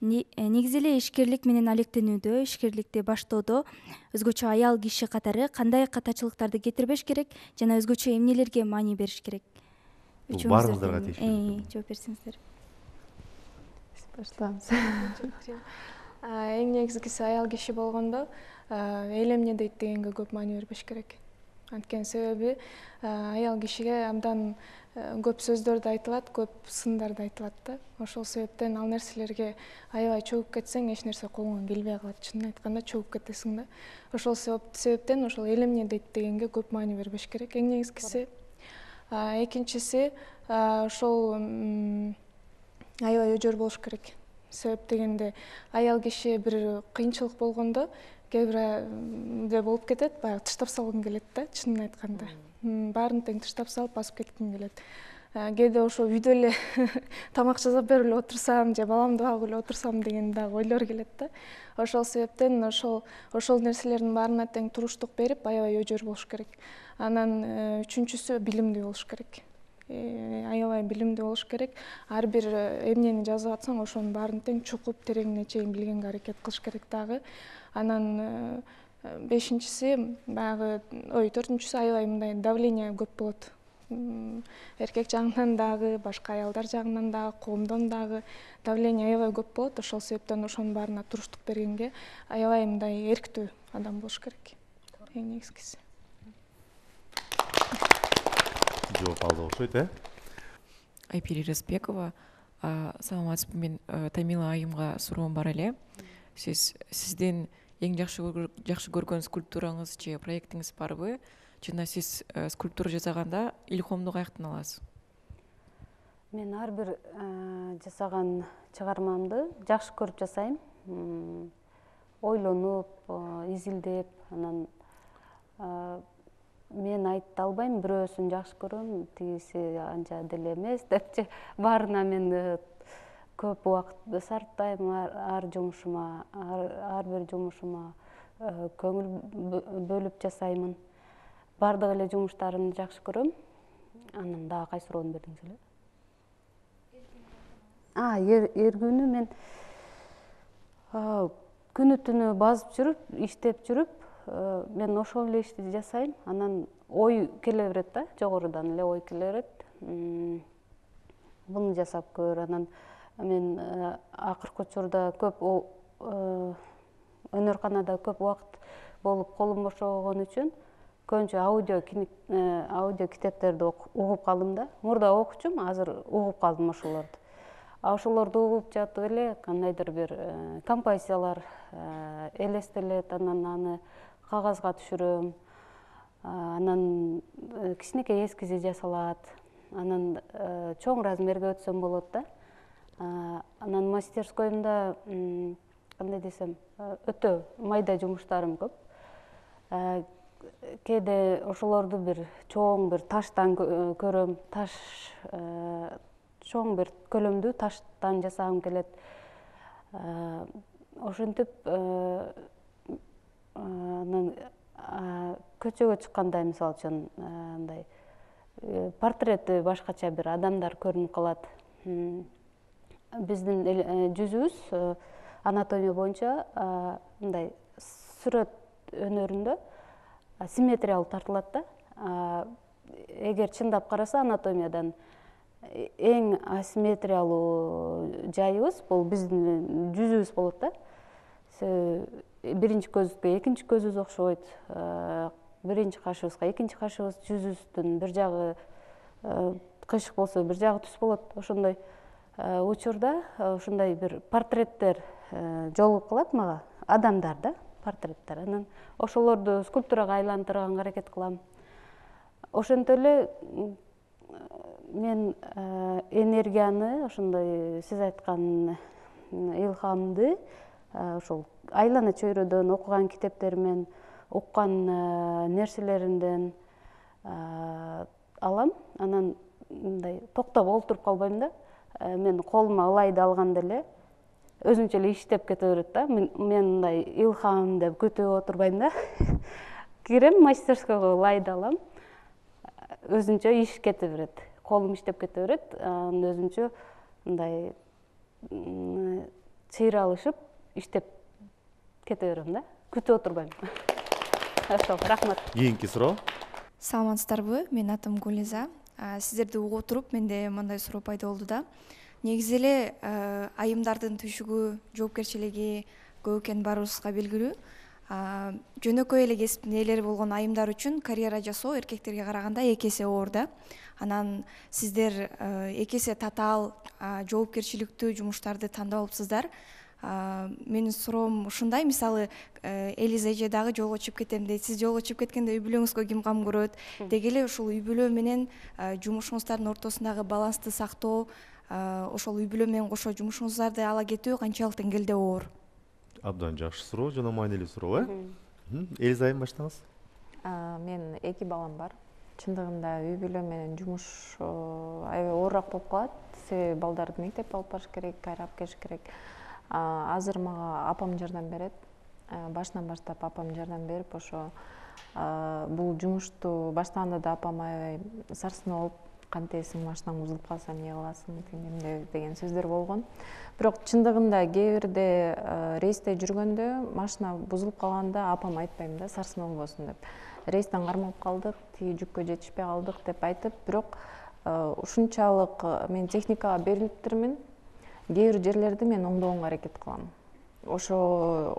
Негизи эле ишкерлик менен алектенүүдө, ишкерликти баштоодо өзгөчө аял киши катары кандай катачылыктарды кетирбеш керек жана өзгөчө эмнелерге маани бериш керек? Баарыңыздарга тийиштүү. Жооп берсеңиздер. Баштабыз. Эң негизгиси аял киши болгондо эл эмне дейт дегенге көп маани бербеш керек. Анткени себеби аял кишиге абдан көп сөздөрдү айтылат, көп сындарды айтылат да. Ошол себептен ал нерселерге аябай чөгүп кетсең, эч нерсе колуңан келбей калат. Чынын айтканда чөгүп кетесиң да. Ошол себептен ошол эл эмне дейт дегенге көп маани бербеш керек. Эң негизгиси. Экинчиси ошол аябай өжөр болуш керек. Себеп дегенде аял киши бир кыйынчылык болгондо кээ бирде болуп кетет, баягы тыштап салгың келет да, чынын айтканда. баарын тең таштап салып басып кетким келет. Кээде ошо үйдө эле тамак жасап берип эле отурсам же баламды багып эле отурсам деген дагы ойлор келет да. Ошол себептен ошол нерселердин баарына тең туруштук берип аябай өжөр болуш керек. Анан үчүнчүсү билимдүү болуш керек. Аябай билимдүү болуш керек. Ар бир эмнени жазып атсаң ошонун баарын тең чукуп тереңине чейин билгенге аракет кылыш керек дагы. Анан бешинчиси баягы төртүнчүсү аябай мындай давление көп болот. Эркек жагынан дагы, башка аялдар жагынан дагы, коомдон дагы давление аябай көп болот. Ошол себептен ошонун баарына туруштук бергенге аябай мындай эрктүү адам болуш керек. Эң негизгиси. Жооп алды окшойт, Айпири Разбекова. Саламатсызбы, мен Тамила айымга суроом бар эле. Сиздин эң жакшы көргөн скульптураңыз же проектиңиз барбы? Жана сиз скульптура жасаганда илхомду каяктан аласыз? Мен ар бир жасаган чыгармамды жакшы көрүп жасайм. Ойлонуп, изилдеп, анан мен айта албайм, бирөөсүн жакшы көрөм, тигиси анча деле эмес депчи. Баарына мен көп убакыт сарптайм, ар жумушума, ар бир жумушума көңүл бөлүп жасаймын. Бардык эле жумуштарымды жакшы көрөм. Анан дагы кайсы суроону бердиңиз эле? Эргүүнү мен күнү түнү базып жүрүп, иштеп жүрүп, мен ошол эле ишти жасайм. Анан ой келе берет да, жогорудан эле ой келе берет. Буну жасап көр. Анан мен акыркы учурда көп өнөрканада көп убакыт болуп колум бошогон үчүн көбүнчө аудио китептерди угуп калдым да. Мурда окучумун, азыр угуп калдым ошолорду. Ошолорду угуп жатып эле кандайдыр бир композициялар элестелет, анан аны кагазга түшүрөм. Анан кичинекей эскизи жасалат. Анан чоң размерге өтсөм болот да. Анан мастерскоймда кандай десем, өтө майда жумуштарым көп. Кээде ошолорду бир чоң бир таштан көрөм, чоң бир көлөмдүү таштан жасагым келет. Ошентип анан көчөгө чыкканда мисалы үчүн мындай портрети башкача бир адамдар көрүнүп калат. Биздин жүзүбүз анатомия боюнча мындай сүрөт өнөрүндө симметриялуу тартылат да. Эгер чындап караса анатомиядан эң асимметриялуу жайыбыз бул биздин жүзүбүз болот да. Биринчи көзүбүзгө экинчи көзүбүз окшойт. Биринчи кашыбызга экинчи кашыбыз, жүзүбүздүн бир жагы кыйшык болсо бир жагы түз болот. Ошондой учурда ушундай бир портреттер жолугуп калат мага, адамдар да, портреттер. Анан ошолорду скульптурага айлантырганга аракет кылам. Ошентип эле мен энергияны, ошондой сиз айткан илхамды ошол айлана чөйрөдөн, окуган китептеримен, уккан нерселеримден алам. Анан мындай токтоп олтуруп калбайм да. Мен колума ылайды алганда эле өзүнчө эле иштеп кете берет да. Мен мындай илхам деп күтүп отурбайм да. Кирем мастерскойго, ылайды алам. Өзүнчө иш кете берет. Колум иштеп кете берет. Анан өзүнчө мындай чыйралышып иштеп кете берем да. Күтүп отурбайм. Ошол, рахмат. Кийинки суроо. Саламатсыздарбы? Менин атым Гулиза. Сиздерди угуп туруп менде мындай суроо пайда болду да. Негизи эле айымдардын түйшүгү, жоопкерчилиги көп экени баарыбызга белгилүү. Жөнөкөй эле кесиптин ээлери болгон айымдар үчүн карьера жасоо эркектерге караганда эки эсе оор да. Анан сиздер эки эсе татаал, жоопкерчиликтүү жумуштарды тандап алыпсыздар. Менин суроом ушундай, мисалы Элиза эже дагы жолго чыгып кетем дейт. Сиз жолго чыгып кеткенде үй бүлөңүзгө ким кам көрөт? Деги эле ушул үй бүлө менен жумушуңуздардын ортосундагы балансты сактоо, ошол үй бүлө менен кошо жумушуңуздарды ала кетүү канчалык деңгээлде оор? Абдан жакшы суроо, жана маанилүү суроо, Элиза айым баштаңыз. Мен эки балам бар. чындыгында үй бүлө менен жумуш аябай оорураак болуп калат. Себеби балдарды мектепке алып барыш керек, кайра алып келиш керек. Азыр мага апам жардам берет. Башынан баштап апам жардам берип, ошо бул жумушту баштаганда да апам аябай сарсынып, кантесиң, машинаң бузулуп калса эмне кыласың деген сөздөр болгон. Бирок чындыгында кээ бирде рейсте жүргөндө машина бузулуп калганда апам айтпайм да, сарсынып болбосун деп. Рейстен кармалып калдык, тиги жүккө жетишпей калдык деп айтып, бирок ушунчалык мен техникага берилиптирмин. Кээ бир жерлерди мен оңдогонго аракет кылам. Ошо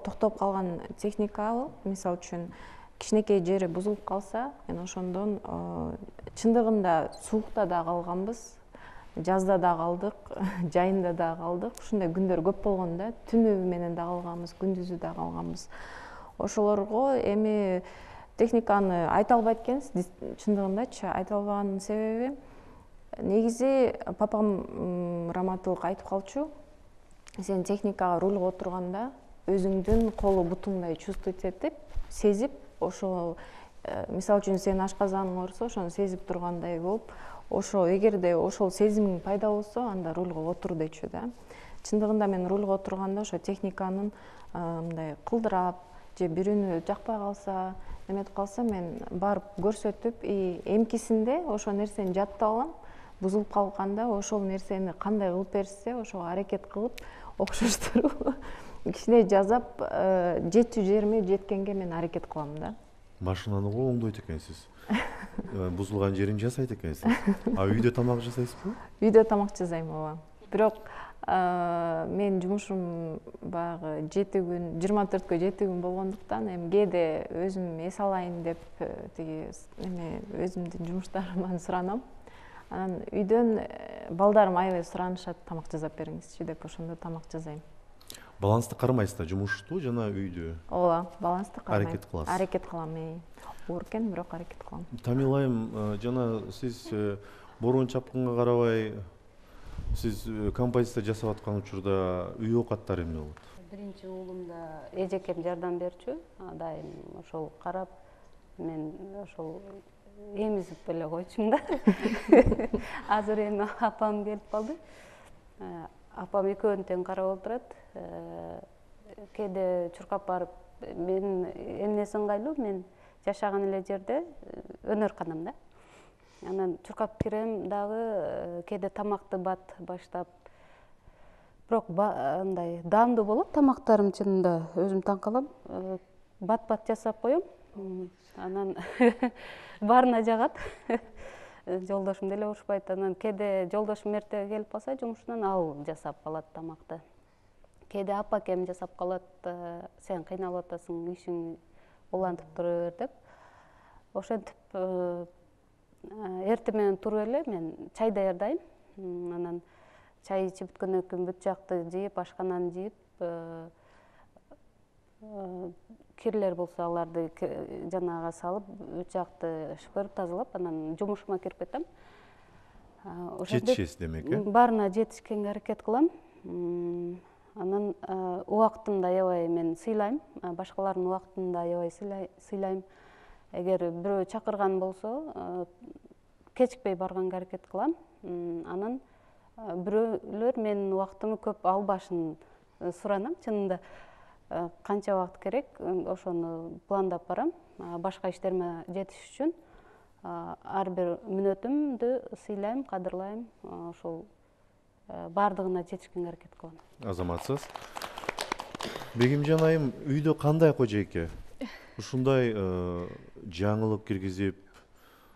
токтоп калган техника, мисалы үчүн кичинекей жери бузулуп калса, мен ошондон чындыгында суукта да калганбыз, жазда да калдык, жайында да калдык. Ушундай күндөр көп болгон да, түнү менен да калганбыз, күндүзү да калганбыз. Ошолорго эми техниканы айта албайт экенбиз, чындыгындачы айта албаганын себеби негизи папам раматылык айтып калчу. Сен техникага рульга отурганда өзүңдүн колу бутуңдай чувствовать этип, сезип, ошо мисалы үчүн сен ашказаның оорусо, ошону сезип тургандай болуп, ошо эгерде ошол сезимиң пайда болсо, анда рульга отур дечү да. Чындыгында мен рульга отурганда ошо техниканын мындай кылдырап же бирөөнү жакпай калса, эметип калса, мен барып көрсөтүп, эмкисинде ошол нерсени жаттап алам. Бузулуп калганда ошол нерсени кандай кылып беришсе, ошого аракет кылып, окшоштуруп, кичине жасап, жетчү жериме жеткенге мен аракет кылам да. Машинаны го оңдойт экенсиз. Бузулган жерин жасайт экенсиз. Үйдө тамак жасайсызбы? Үйдө тамак жасайм, ооба. Бирок мен жумушум баягы 7 күн, 24кө 7 күн болгондуктан, эми кээде өзүм эс алайын деп тиги өзүмдүн жумуштарыман суранам. Анан үйдөн балдарым аябай суранышат, тамак жасап бериңизчи деп, ошондо тамак жасайм. Балансты кармайсыз да, жумушту жана үйдү? Ооба, балансты кармайм. Аракет кыласыз. Аракет кылам, оор экен, бирок аракет кылам. Тамила айым, жана сиз борон чапкынга карабай, сиз композиция жасап аткан учурда үй оокаттары эмне болот? Биринчи уулум да эжекем жардам берчү, дайым ошол карап, мен ошол эмизип эле койчумун да. Азыр эми апам келип калды. Апам экөөнү тең карап отурат. Кээде чуркап барып, мен эмнеси ыңгайлуу, мен жашаган эле жерде өнөр-канам да. Анан чуркап кирем дагы, кээде тамакты бат баштап. Бирок андай даамдуу болот тамактарым, чынында өзүм таң калам. Бат жасап коем. Анан баарына жагат. Жолдошум деле урушпайт. Анан кээде жолдошум эрте келип калса жумушунан, ал жасап калат тамакты. Кээде апакем жасап калат, сен кыйналып атасың, ишиң улантып тура бер деп. Ошентип эртең менен туруп эле мен чай даярдайм. Анан чай ичип бүткөндөн кийин бүт жакты жыйып, ашкананы жыйып, кирлер болсо аларды жанага салып, бүт жакты шыпырып тазалап, анан жумушума кирип кетем. Жетишесиз демек, э? Баарына жетишкенге аракет кылам. Анан убактын да аябай мен сыйлайм, башкалардын убактын да аябай сыйлайм. Эгер бирөө чакырган болсо, кечикпей барганга аракет кылам. Анан бирөөлөр менин убактымды көп албашын суранам. Чынында канча убакыт керек, ошону пландап барам. Башка иштериме жетиш үчүн ар бир мүнөтүмдү сыйлайм, кадырлайм. Ошол баардыгына жетишкенге аракет кылам. Азаматсыз. Бегимжан айым, үйдө кандай кожойке? Ушундай жаңылык киргизип,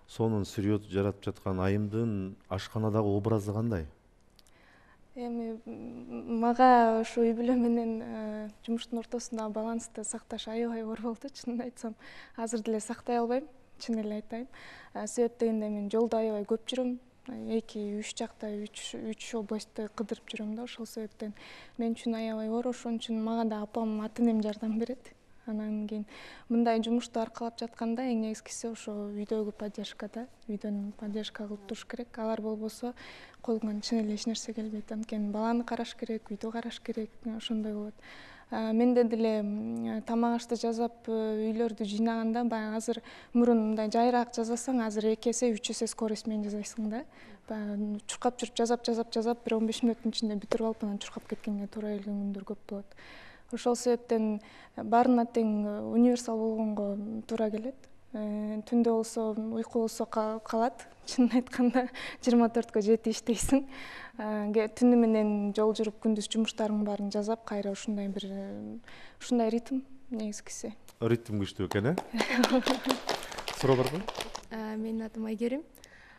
сонун сүйрөт жаратып жаткан айымдын ашканадагы образы кандай? Эми мага ошо үй бүлө менен жумуштун ортосундагы балансты сакташ аябай оор болду, чынын айтсам. Азыр деле сактай албайм, чын эле айтайын. Себеп дегенде мен жолдо аябай көп жүрөм. 2-3 жакта 3 областты кыдырып жүрөм да, ошол себептен мен үчүн аябай оор. Ошон үчүн мага да апам, ата энем жардам берет. Анан кийин мындай жумушту аркалап жатканда эң негизгиси ошо үйдөгү поддержка да. Үйдөн поддержка кылып туруш керек. Алар болбосо колуңан чын эле эч нерсе келбейт. Анткени баланы караш керек, үйдү караш керек, ошондой болот. Менде деле тамак ашты жасап үйлөрдү жыйнаганда баягы азыр мурун мындай жайыраак жасасаң, азыр 2 эсе 3 эсе скорость менен жасайсың да. Баягы чуркап жүрүп жасап бир 15 мүнөттүн ичинде бүтүрүп алып анан чуркап кеткенге туура келген күндөр көп болот. Ошол себептен баарына тең универсал болгонго туура келет. Түндө болсо уйку болсо калат. Чынын айтканда 24-кө 7 иштейсиң. Түнү менен жол жүрүп күндүз жумуштарыңдын баарын жасап, кайра ушундай бир ушундай ритм негизгиси. Ритм күчтүү экен, Суроо барбы? Менин атым Айгерим.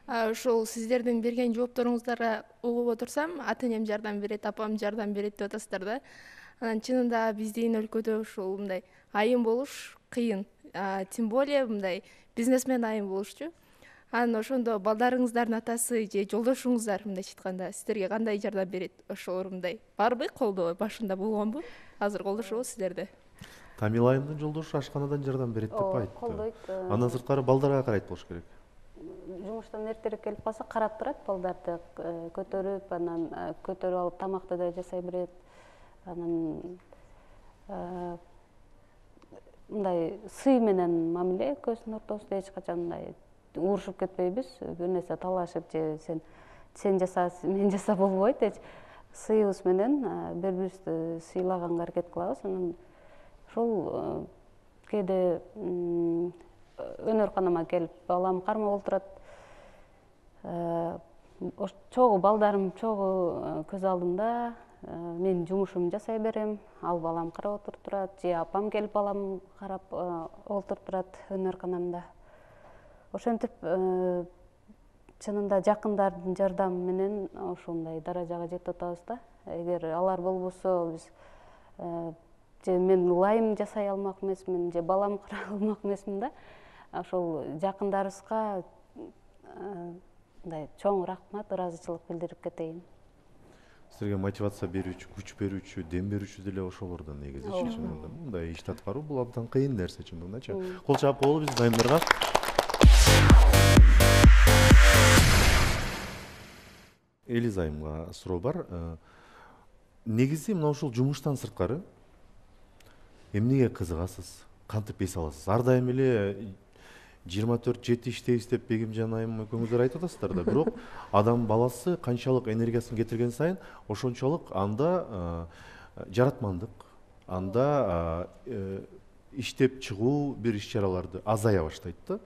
Ошол сиздердин берген жоопторуңуздарга угуп отурсам, ата-энем жардам берет, апам жардам берет деп атасыздар да. Анан чынында биздин өлкөдө ушул мындай айым болуш кыйын. Тем более мындай бизнесмен айым болушчу. Анан ошондо балдарыңыздардын атасы же жолдошуңуздар мындайча айтканда сиздерге кандай жардам берет? Ошолор мындай барбы, колдоо башында болгонбу? Азыр колдошобу сиздерди? Тамила айымдын жолдошу ашканадан жардам берет деп айтты. Колдойт. Андан сырткары балдарга карайт болуш керек. Жумуштан эртерээк келип калса карап турат, балдарды көтөрүп, анан көтөрүп алып тамакты да жасай берет. Анан мындай сый менен мамиле экөөбүздүн ортобузда эч качан мындай урушуп кетпейбиз. Бир нерсе талашып же сен жаса, мен жаса болбойт. Сыйыбыз менен бири-бирибизди сыйлаганга аракет кылабыз. Анан ошол кээде өнөр-канама келип балам кармап отурат. Чогуу балдарым чогуу көз алдымда, мен жумушумду жасай берем, ал балам карап отуруп турат, же апам келип балам карап отуруп турат өнөр-канамда. Ошентип чынында жакындардын жардамы менен ошондой даражага жетип атабыз да. Эгер алар болбосо биз же мен ылайым жасай алмак эмесмин, же балам карай алмак эмесмин да. Ошол жакындарыбызга мындай чоң рахмат, ыраазычылык билдирип кетейин. Силерге мотивация берүүчү, күч берүүчү, дем берүүчү деле ошолордон негизи чынында. Мындай иш аткаруу бул абдан кыйын нерсе чындыгындачы. Кол чаап коелу биздин айымдарга. Элиз айымга суроо бар. Негизи мына ушул жумуштан сырткары эмнеге кызыгасыз? Кантип эс аласыз? Ар дайым эле 24/7 иштейбиз деп Бегимжан айым экөөңүздөр айтып атасыздар да. Бирок адам баласы канчалык энергиясын кетирген сайын ошончолук анда жаратмандык, анда иштеп чыгуу бир иш-чараларды азая баштайт да.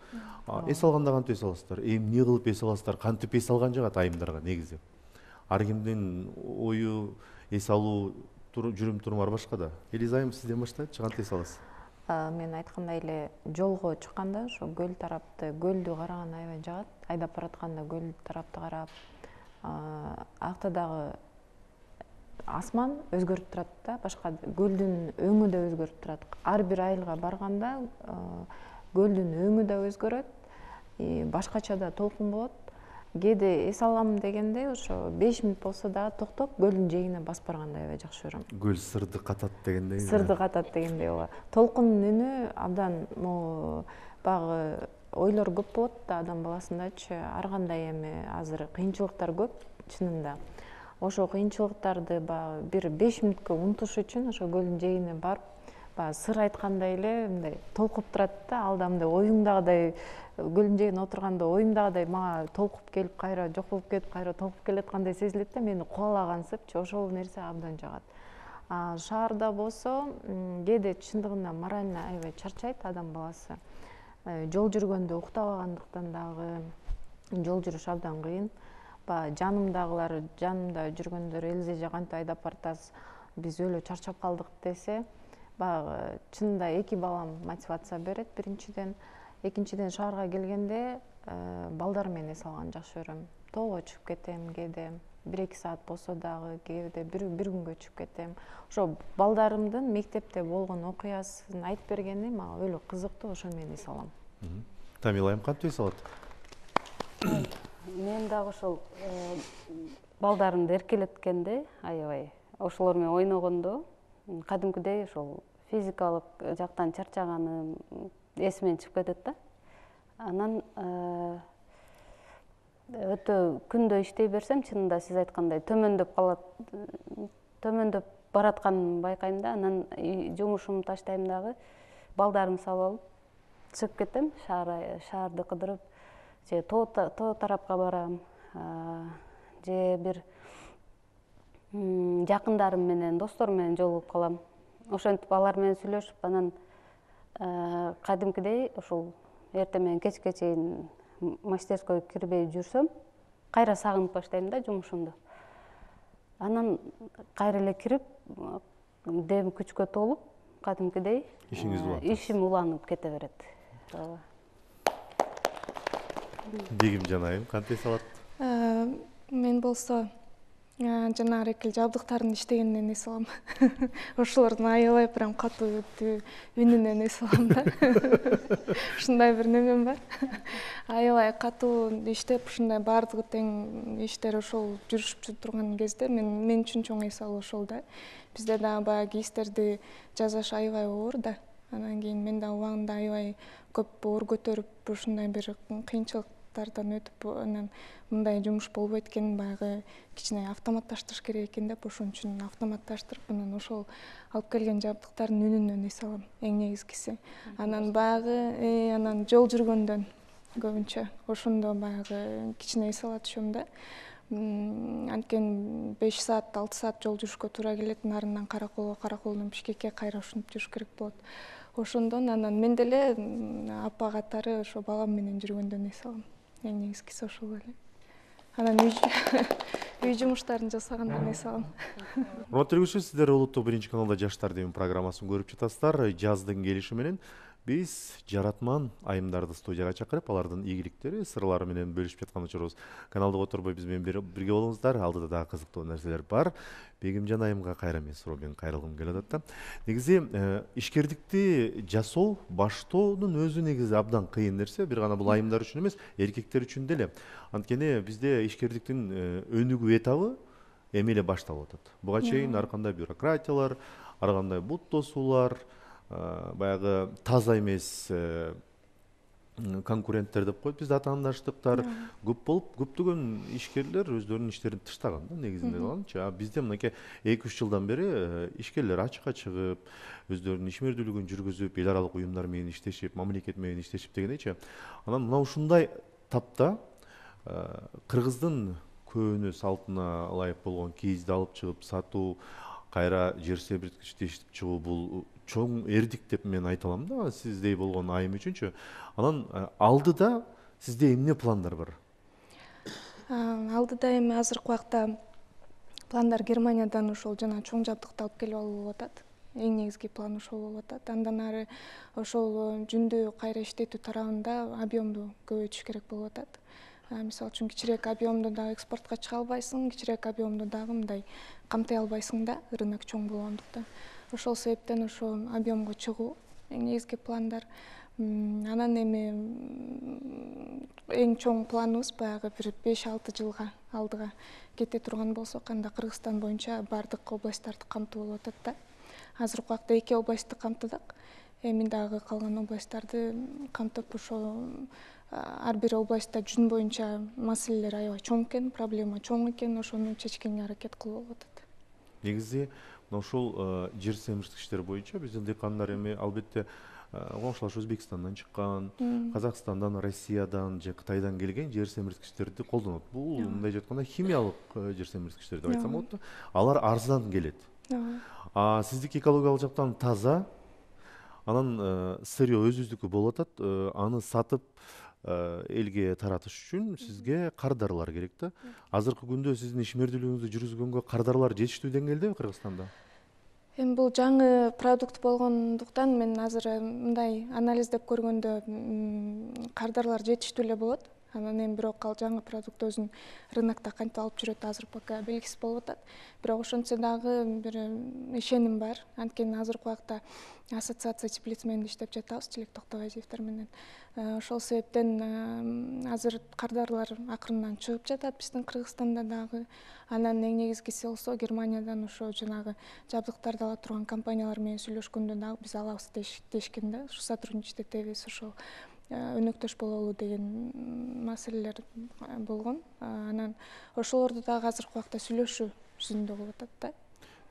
Эс алганда кантип эс аласыздар? Эмне кылып эс аласыздар? Кантип эс алган жагат айымдарга негизи? Ар кимдин ою, эс алуу жүрүм-туруму башка да. Элиз айым сизден баштайчы, кантип эс аласыз? Мен айткандай эле жолго чыкканда ошо көл тарапты, көлдү караган аябай жагат. Айдап баратканда көл тарапты карап, акта дагы асман өзгөрүп турат да, башка көлдүн өңү да өзгөрүп турат. Ар бир айылга барганда көлдүн өңү да өзгөрөт, башкача да толкун болот. Кээде эс алам дегенде ошо 5 мүнөт болсо дагы токтоп көлдүн жээгине басып барганды аябай жакшы көрөм. Көл сырды катат дегендей. Сырды катат дегендей ооба. Толкундун үнү абдан баягы ойлор көп болот да адам баласындачы. Ар кандай эми азыр кыйынчылыктар көп чынында. Ошо кыйынчылыктарды баягы бир 5 мүнөткө унутуш үчүн ошо көлдүн жээгине барып, баягы сыр айткандай эле мындай толкуп турат да, алда мындай оюңдагыдай көлдүн жээгине отурганда оюмдагыдай мага толкуп келип, кайра жок болуп кетип, кайра толкуп келаткандай сезилет да, мени кубалагансыпчы, ошол нерсе абдан жагат. Шаарда болсо кээде чындыгында морально аябай чарчайт адам баласы. Жол жүргөндө уктабагандыктан дагы жол жүрүш абдан кыйын. Баягы жанымда жүргөндөр Элизе кантип айдап баратасыз, биз өлө чарчап калдык десе, баягы чынында 2 балам мотивация берет биринчиден. Экинчиден шаарга келгенде балдар менен эс алганды жакшы көрөм. Тоого чыгып кетем кээде, 1-2 саат болсо дагы, кээде бир күнгө чыгып кетем. Ошо балдарымдын мектепте болгон окуясын айтып бергени мага өлө кызыктуу, ошо менен эс алам. Тамила айым кантип эс алат? Мен дагы ошол балдарымды эркелеткенде, аябай ошолор менен ойногондо, кадимкидей ошол физикалык жактан чарчаганым эсимден чыгып кетет да. Анан өтө күндө иштей берсем, чынында сиз айткандай төмөндөп калат, төмөндөп баратканын байкайм да. Анан жумушумду таштайм дагы, балдарымды салып алып чыгып кетем, шаарды кыдырып, же тоо тарапка барам, же бир жакындарым менен, досторум менен жолугуп калам. Ошентип алар менен сүйлөшүп, анан кадимкидей ушул эртең менен кечке чейин мастерскойго кирбей жүрсөм, кайра сагынып баштайм да жумушумду. Анан кайра эле кирип, дем күчкө толуп, кадимкидей ишим уланып кете берет. Бегимжан айым кантип эс алат? Мен болсо жанагы экил жабдыктардын иштегенинен эс алам. Ошолордун аябай прям катуу үнүнөн эс алам да. Ушундай бир немем бар. Аябай катуу иштеп, ушундай баардыгы тең иштер ошол жүрүшүп турган кезде мен үчүн чоң эс алуу ошол да. Бизде дагы баягы кейстерди жасаш аябай оор да. Анан кийин мен да убагында аябай көп оор көтөрүп, ушундай бир кыйынчылыктардан өтүп, анан мындай жумуш болбойт экен, баягы кичине автоматташтырыш керек экен деп, ошон үчүн автоматташтырып, анан ошол алып келген жабдыктардын үнүнөн эс алам, эң негизгиси. Анан баягы анан жол жүргөндөн көбүнчө ошондо баягы кичине эс ала түшөм да. Анткени 5 саат, 6 саат жол жүрүшкө туура келет, нарынан Караколго, Караколдон Бишкекке кайра ушинтип жүрүш керек болот. Ошондон анан мен деле апа катары ошо балам менен жүргөндөн эс алам. Эң негизгиси ошол эле. Анан үй жумуштарын жасагандан эс алам. Урматтуу көрүүчүлөр, сиздер Улуттук 1-каналда Жаштар демин программасын көрүп жатасыздар. Жаздын келиши менен биз жаратман айымдарды студияга чакырып, алардын ийгиликтери, сырлары менен бөлүшүп жаткан учурубуз. Каналды которбой биз менен бирге болуңуздар. Алдыда дагы кызыктуу нерселер бар. Бегимжан айымга кайра мен суроо кайрылгым келип атат да. Негизи ишкердикти жасоо, баштоонун өзү негизи абдан кыйын нерсе. Бир гана бул айымдар үчүн эмес, эркектер үчүн деле. Анткени бизде ишкердиктин өнүгүү этабы эми эле башталып атат. Буга чейин ар кандай бюрократиялар, ар кандай бут тосуулар, баягы таза эмес конкуренттер деп коет бизде атаандаштыктар көп болуп, көптөгөн ишкерлер өздөрүнүн иштерин тыштаган да негизинде калганчы. Бизде мынакей 2-3 жылдан бери ишкерлер ачыкка чыгып, өздөрүнүн ишмердүүлүгүн жүргүзүп, эл аралык уюмдар менен иштешип, мамлекет менен иштешип дегендейчи. Анан мына ушундай тапта кыргыздын көөнө салтына ылайык болгон кийизди алып чыгып сатуу, кайра жер себирткичти иштеп чыгуу бул чоң эрдик деп мен айта алам да, сиздей болгон айым үчүнчү. Анан алдыда сизде эмне пландар бар? Алдыда эми азыркы убакта пландар Германиядан ошол жана чоң жабдыкты алып келип алуу болуп атат. Эң негизги план ошол болуп атат. Андан ары ошол жүндү кайра иштетүү тарабында объемду көбөйтүш керек болуп атат. Мисалы үчүн кичирээк объемду дагы экспортко чыга албайсың, кичирээк объемду дагы мындай камтый албайсың да, рынок чоң болгондуктан. Ошол себептен ошо объемго чыгуу эң негизги пландар. Анан эми эң чоң планыбыз баягы бир 5-6 жылга алдыга кете турган болсок, анда Кыргызстан боюнча баардык областтарды камтуу болуп атат да. Азыркы убакта 2 областты камтыдык. Эми дагы калган областтарды камтып, ошо ар бир областта жүн боюнча маселелер аябай чоң экен, проблема чоң экен, ошону чечкенге аракет кылып болуп атат. Негизи ошол жер семирткичтер боюнча биздин дыйкандар эми албетте коңшулаш Өзбекстандан чыккан, Казакстандан, Россиядан же Кытайдан келген жер семирткичтерди колдонот. Бул мындай айтканда химиялык жер семирткичтер деп айтсам болот да. Алар арзан келет. Сиздики экологиялык жактан таза, анан сырье өзүбүздүкү болуп атат. Аны сатып элге таратыш үчүн сизге кардарлар керек да. Азыркы күндө сиздин ишмердүүлүгүңүздү жүргүзгөнгө кардарлар жетиштүү деңгээлдеби Кыргызстанда? Эми бул жаңы продукт болгондуктан мен азыр мындай анализдеп көргөндө кардарлар жетиштүү эле болот. Анан эми бирок ал жаңы продукт өзүн рынокто кантип алып жүрөт азыр пока белгисиз болуп атат. Бирок ошентсе дагы бир ишеним бар. Анткени азыркы убакта ассоциация теплиц менен иштеп жатабыз, Тилек Токтобайзиевдер менен. Ошол себептен азыр кардарлар акырындан чыгып жатат биздин Кыргызстанда дагы. Анан эң негизгиси болсо Германиядан ошо жанагы жабдыктарды ала турган компаниялар менен сүйлөшкөндө дагы биз алабыз дешкен да. Ушу сотрудничать этебиз, ошол өнөктөш бололу деген маселелер болгон. Анан ошолорду дагы азыркы убакта сүйлөшүү жүзүндө болуп атат да.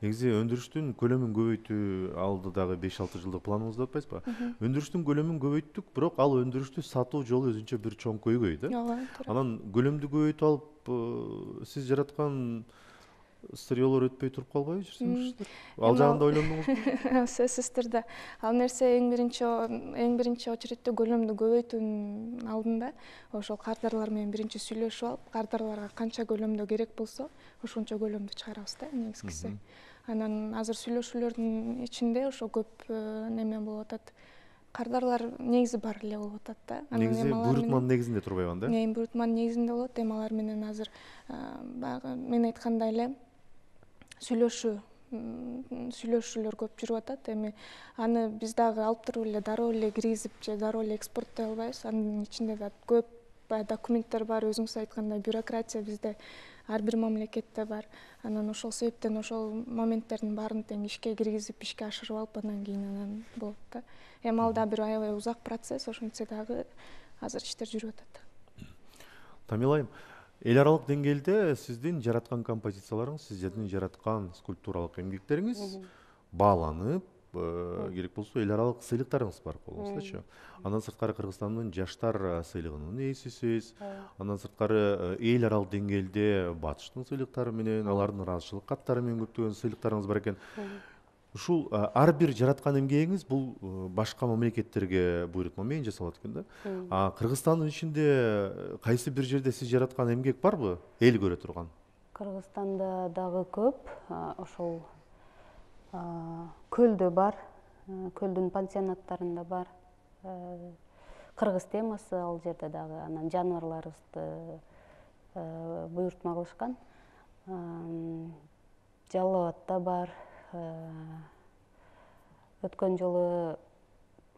Негизи өндүрүштүн көлөмүн көбөйтүү алдыдагы 5-6 жылдык планыбызда деп атпайсызбы? Өндүрүштүн көлөмүн көбөйттүк, бирок ал өндүрүштү сатуу жолу өзүнчө бир чоң көйгөй да. Ооба, туура. Анан көлөмдү көбөйтүп алып, сиз жараткан сырьёолор өтпөй туруп калбайбы жүрсүңүздөр? Ал жагын да ойлондуңузбу? Сөзсүз түрдө. Ал нерсе эң биринчи очередте көлөмдү көбөйтүүнүн алдында ошол кардарлар менен биринчи сүйлөшүп алып, кардарларга канча көлөмдө керек болсо, ошончо көлөмдү чыгарабыз да негизгиси. Анан азыр сүйлөшүүлөрдүн ичинде ошо көп неме болуп атат. Кардарлар негизи бар эле болуп атат да. Негизи буйрутманын негизинде турбайбы анда? Эми буйрутманын негизинде болот. Эми алар менен азыр баягы мен айткандай эле сүйлөшүүлөр көп жүрүп атат. Эми аны биз дагы алып туруп эле дароо эле киргизип же дароо эле экспорттой албайбыз. Анын ичинде да көп документтер бар, өзүңүз айткандай бюрократия bizde ар бир мамлекетте бар. Анан ошол себептен ошол моменттердин баарын тең ишке киргизип, ишке ашырып алып, андан кийин анан болот да. Эми ал да бир аябай узак процесс, ошентсе дагы азыр иштер жүрүп атат. Тамила айым, эл аралык деңгээлде сиздин жараткан композицияларыңыз, сиздердин жараткан скульптуралык эмгектериңиз бааланып, керек болсо эл аралык сыйлыктарыңыз бар колуңуздачы. Андан сырткары Кыргызстандын жаштар сыйлыгынын ээсисиз. Андан сырткары эл аралык деңгээлде Батыштын сыйлыктары менен, алардын ыраазычылык каттары менен көптөгөн сыйлыктарыңыз бар экен. Ушул ар бир жараткан эмгегиңиз бул башка мамлекеттерге буйрутма менен жасалат экен да. Кыргызстандын ичинде кайсы бир жерде сиз жараткан эмгек барбы? Эл көрө турган. Кыргызстанда дагы көп, ошол көлдө бар, көлдүн пансионаттарында бар. Кыргыз темасы ал жерде дагы, анан жаныбарларыбызды буйрутма кылышкан. Жалал Абадта бар. Өткөн жолу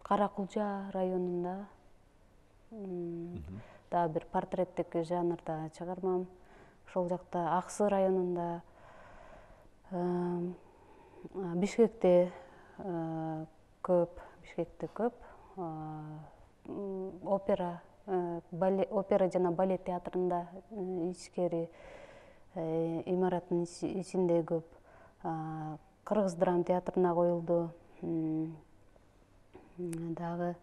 Каракулжа районунда дагы бир портреттик жанрда чыгармам. Ошол жакта Аксы районунда, Бишкекте көп, опера жана балет театрында ичкери имараттын ичинде көп. Кыргыз драма театрына коюлду. Дагы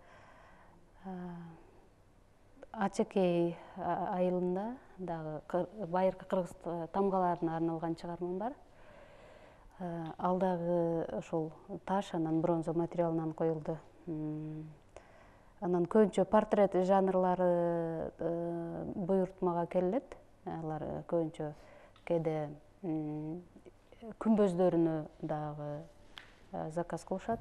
Ачекей айылында дагы байыркы кыргыз тамгаларына арналган чыгармам бар. Ал дагы ошол таш, анан бронза материалынан коюлду. Анан көбүнчө портрет жанрлары буйрутмага келет. Алар көбүнчө кээде күмбөздөрүнө дагы заказ кылышат.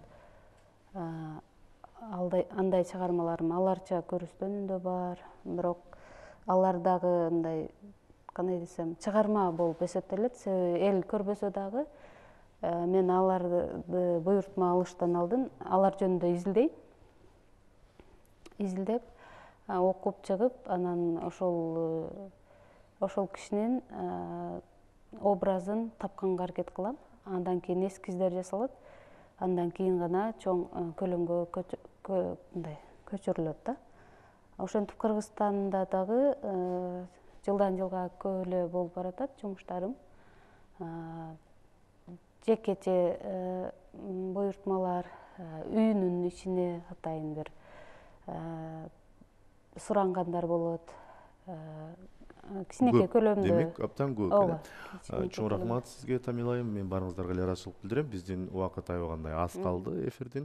Андай чыгармаларым аларча көрүстөнүндө бар, бирок алар дагы мындай, кандай десем, чыгарма болуп эсептелет. Себеби эл көрбөсө дагы мен аларды буйрутма алыштан алдын алар жөнүндө изилдеп, окуп чыгып, анан ошол кишинин образын тапканга аракет кылам. Андан кийин эскиздер жасалат. Андан кийин гана чоң көлөмгө көчүрүлөт да. Ошентип Кыргызстанда дагы жылдан жылга көп эле болуп баратат жумуштарым. Жекече буйрутмалар, үйүнүн ичине атайын бир сурангандар болот. Кичинекей көлөмдө. Демек, абдан көп. Чоң рахмат сизге, Тамила айым. Мен баарыңыздарга ыраазычылык билдирем. Биздин убакыт аябагандай аз калды эфирдин.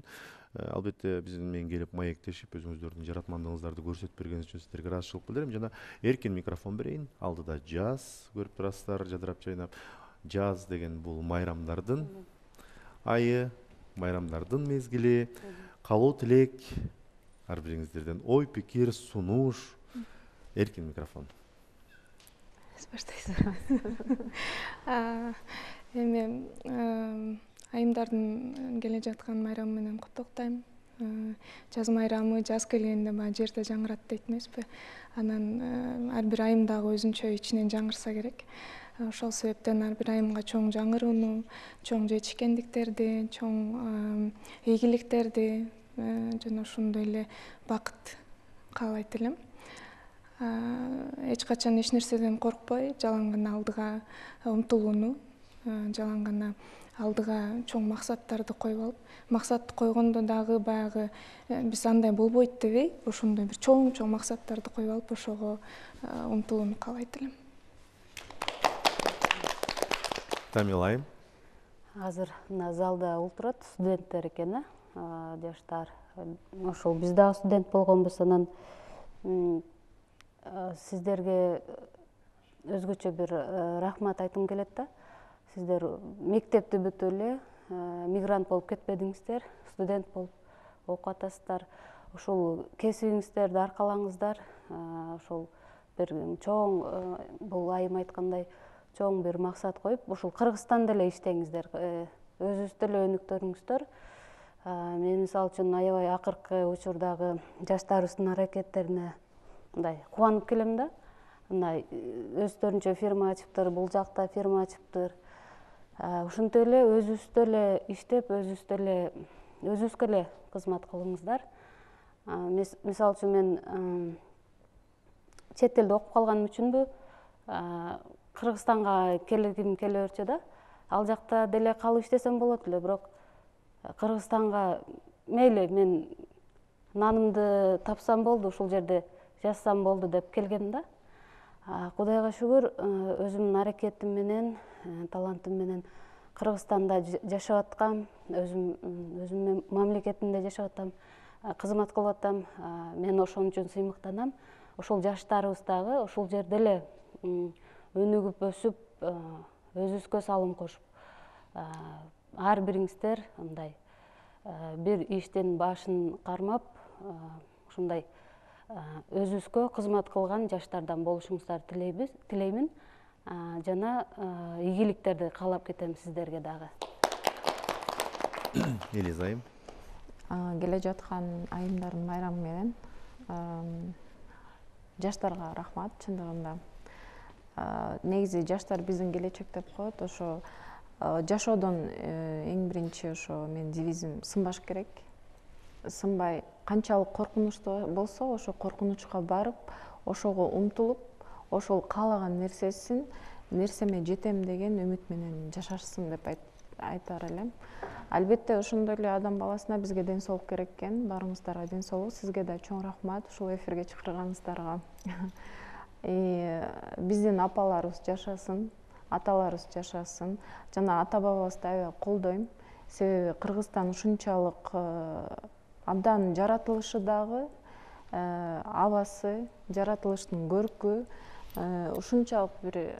Албетте биздин менен келип маектешип, өзүңүздөрдүн жаратмандыгыңыздарды көрсөтүп бергениңиз үчүн сиздерге ыраазычылык билдирем. Жана эркин микрофон берейин. Алдыда жаз көрүп турасыздар, жадырап жайнап. Жаз деген бул майрамдардын айы, майрамдардын мезгили. Каалоо тилек ар бириңиздерден ой, пикир, сунуш, Эркин микрофон. Сиз баштайсызбы? Эми айымдардын келе жаткан майрамы менен куттуктайм. Жаз майрамы жаз келгенде баягы жерде жаңырат дейт эмеспи? Анан ар бир айым дагы өзүнчө ичинен жаңырса керек. Ошол себептен ар бир айымга чоң жаңырууну, чоң жетишкендиктерди, чоң ийгиликтерди жана ошондой эле бакыт каалайт элем. Эч качан эч нерседен коркпой, жалаң гана алдыга умтулууну, жалаң гана алдыга чоң максаттарды коюп алып, максатты койгондо дагы баягы биз андай болбойт дебей, ошондой бир чоң максаттарды коюп алып, ошого умтулууну каалайт элем. Тамила айым. Азыр мына залда отурат студенттер экен, жаштар. Ошол биз дагы студент болгонбуз, анан сиздерге өзгөчө бир рахмат айткым келет да. Сиздер мектепти бүтүп эле мигрант болуп кетпедиңиздер, студент болуп окуп атасыздар. Ошол кесибиңиздерди аркалаңыздар. Ошол бир чоң, бул айым айткандай, чоң бир максат коюп, ушул Кыргызстанда эле иштеңиздер, өзүңүздө эле өнүктүрүңүздөр. Мен мисалы үчүн аябай акыркы учурдагы жаштарыбыздын аракеттерине мындай кубанып келем да. Мындай өздөрүнчө фирма ачыптыр, бул жакта фирма ачыптыр. Ушинтип эле өзүбүздө эле иштеп, өзүбүзгө эле кызмат кылыңыздар. Мисалы үчүн мен чет элде окуп калганым үчүнбү Кыргызстанга келгим келе берчү да. Ал жакта деле калып иштесем болот эле, бирок Кыргызстанга мейли мен нанымды тапсам болду, ушул жерде жашасам болду деп келгем да. Кудайга шүгүр, өзүмдүн аракетим менен, талантым менен Кыргызстанда жашап аткам, өзүмдүн мамлекетимде жашап атам, кызмат кылып атам. Мен ошон үчүн сыймыктанам. Ошол жаштарыбыз дагы ошол жерде эле өнүгүп өсүп, өзүбүзгө салым кошуп, ар бириңиздер мындай бир иштин башын кармап, ушундай өзүбүзгө кызмат кылган жаштардан болушуңуздарды тилеймин. Жана ийгиликтерди каалап кетем сиздерге дагы. Элиза айым. Келе жаткан айымдардын майрамы менен жаштарга рахмат. Чындыгында негизи жаштар биздин келечек деп коет. Ошо жашоодон эң биринчи ошо менин девизим сынбаш керек. Сынбай, канчалык коркунучтуу болсо, ошо коркунучка барып, ошого умтулуп, ошол каалаган нерсеме жетем деген үмүт менен жашашсын деп айтар элем. Албетте ошондой эле адам баласына бизге ден соолук керек экен. Баарыңыздарга ден соолук. Сизге да чоң рахмат ушул эфирге чакырганыңыздарга. Биздин апаларыбыз жашасын, аталарыбыз жашасын. Жана ата бабабызды аябай колдойм. Себеби Кыргызстан ушунчалык абдан жаратылышы дагы, абасы, жаратылыштын көркү ушунчалык бир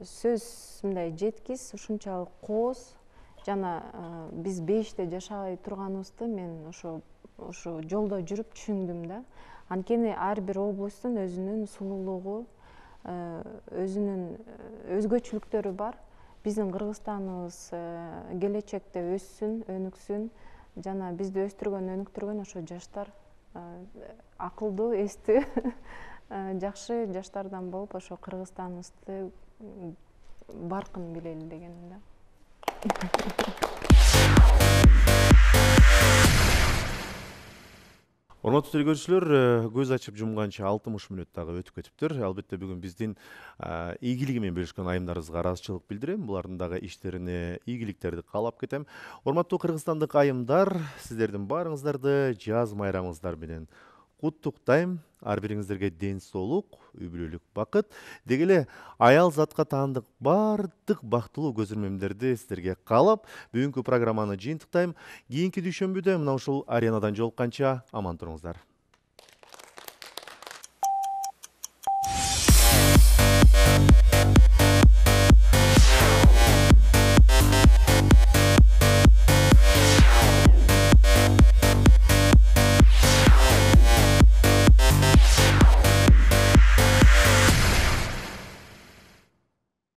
сөз мындай жеткис, ушунчалык кооз. Жана биз бейиште жашабай турганыбызды мен ошо жолдо жүрүп түшүндүм да. Анткени ар бир областын өзүнүн сулуулугу, өзүнүн өзгөчөлүктөрү бар. Биздин Кыргызстаныбыз келечекте өссүн, өнүксүн. Жана бизди өстүргөн, өнүктүргөн ошо жаштар акылдуу, эстүү, жакшы жаштардан болуп, ошо Кыргызстаныбызды баркын билели дегеним да. Урматтуу телекөрүүчүлөр, көз ачып жумганча 60 мүнөт дагы өтүп кетиптир. Албетте бүгүн биздин ийгилиги менен бөлүшкөн айымдарыбызга ыраазычылык билдирем. Булардын дагы иштерине ийгиликтерди каалап кетем. Урматтуу кыргызстандык айымдар, сиздердин баарыңыздарды жаз майрамыңыздар менен куттуктайм. Ар бириңиздерге ден соолук, үй бүлөлүк бакыт, деги эле аял затка таандык баардык бактылуу көз ирмемдерди сиздерге каалап, бүгүнкү программаны жыйынтыктайм. Кийинки дүйшөмбүдө мына ушул аренадан жолукканча аман туруңуздар.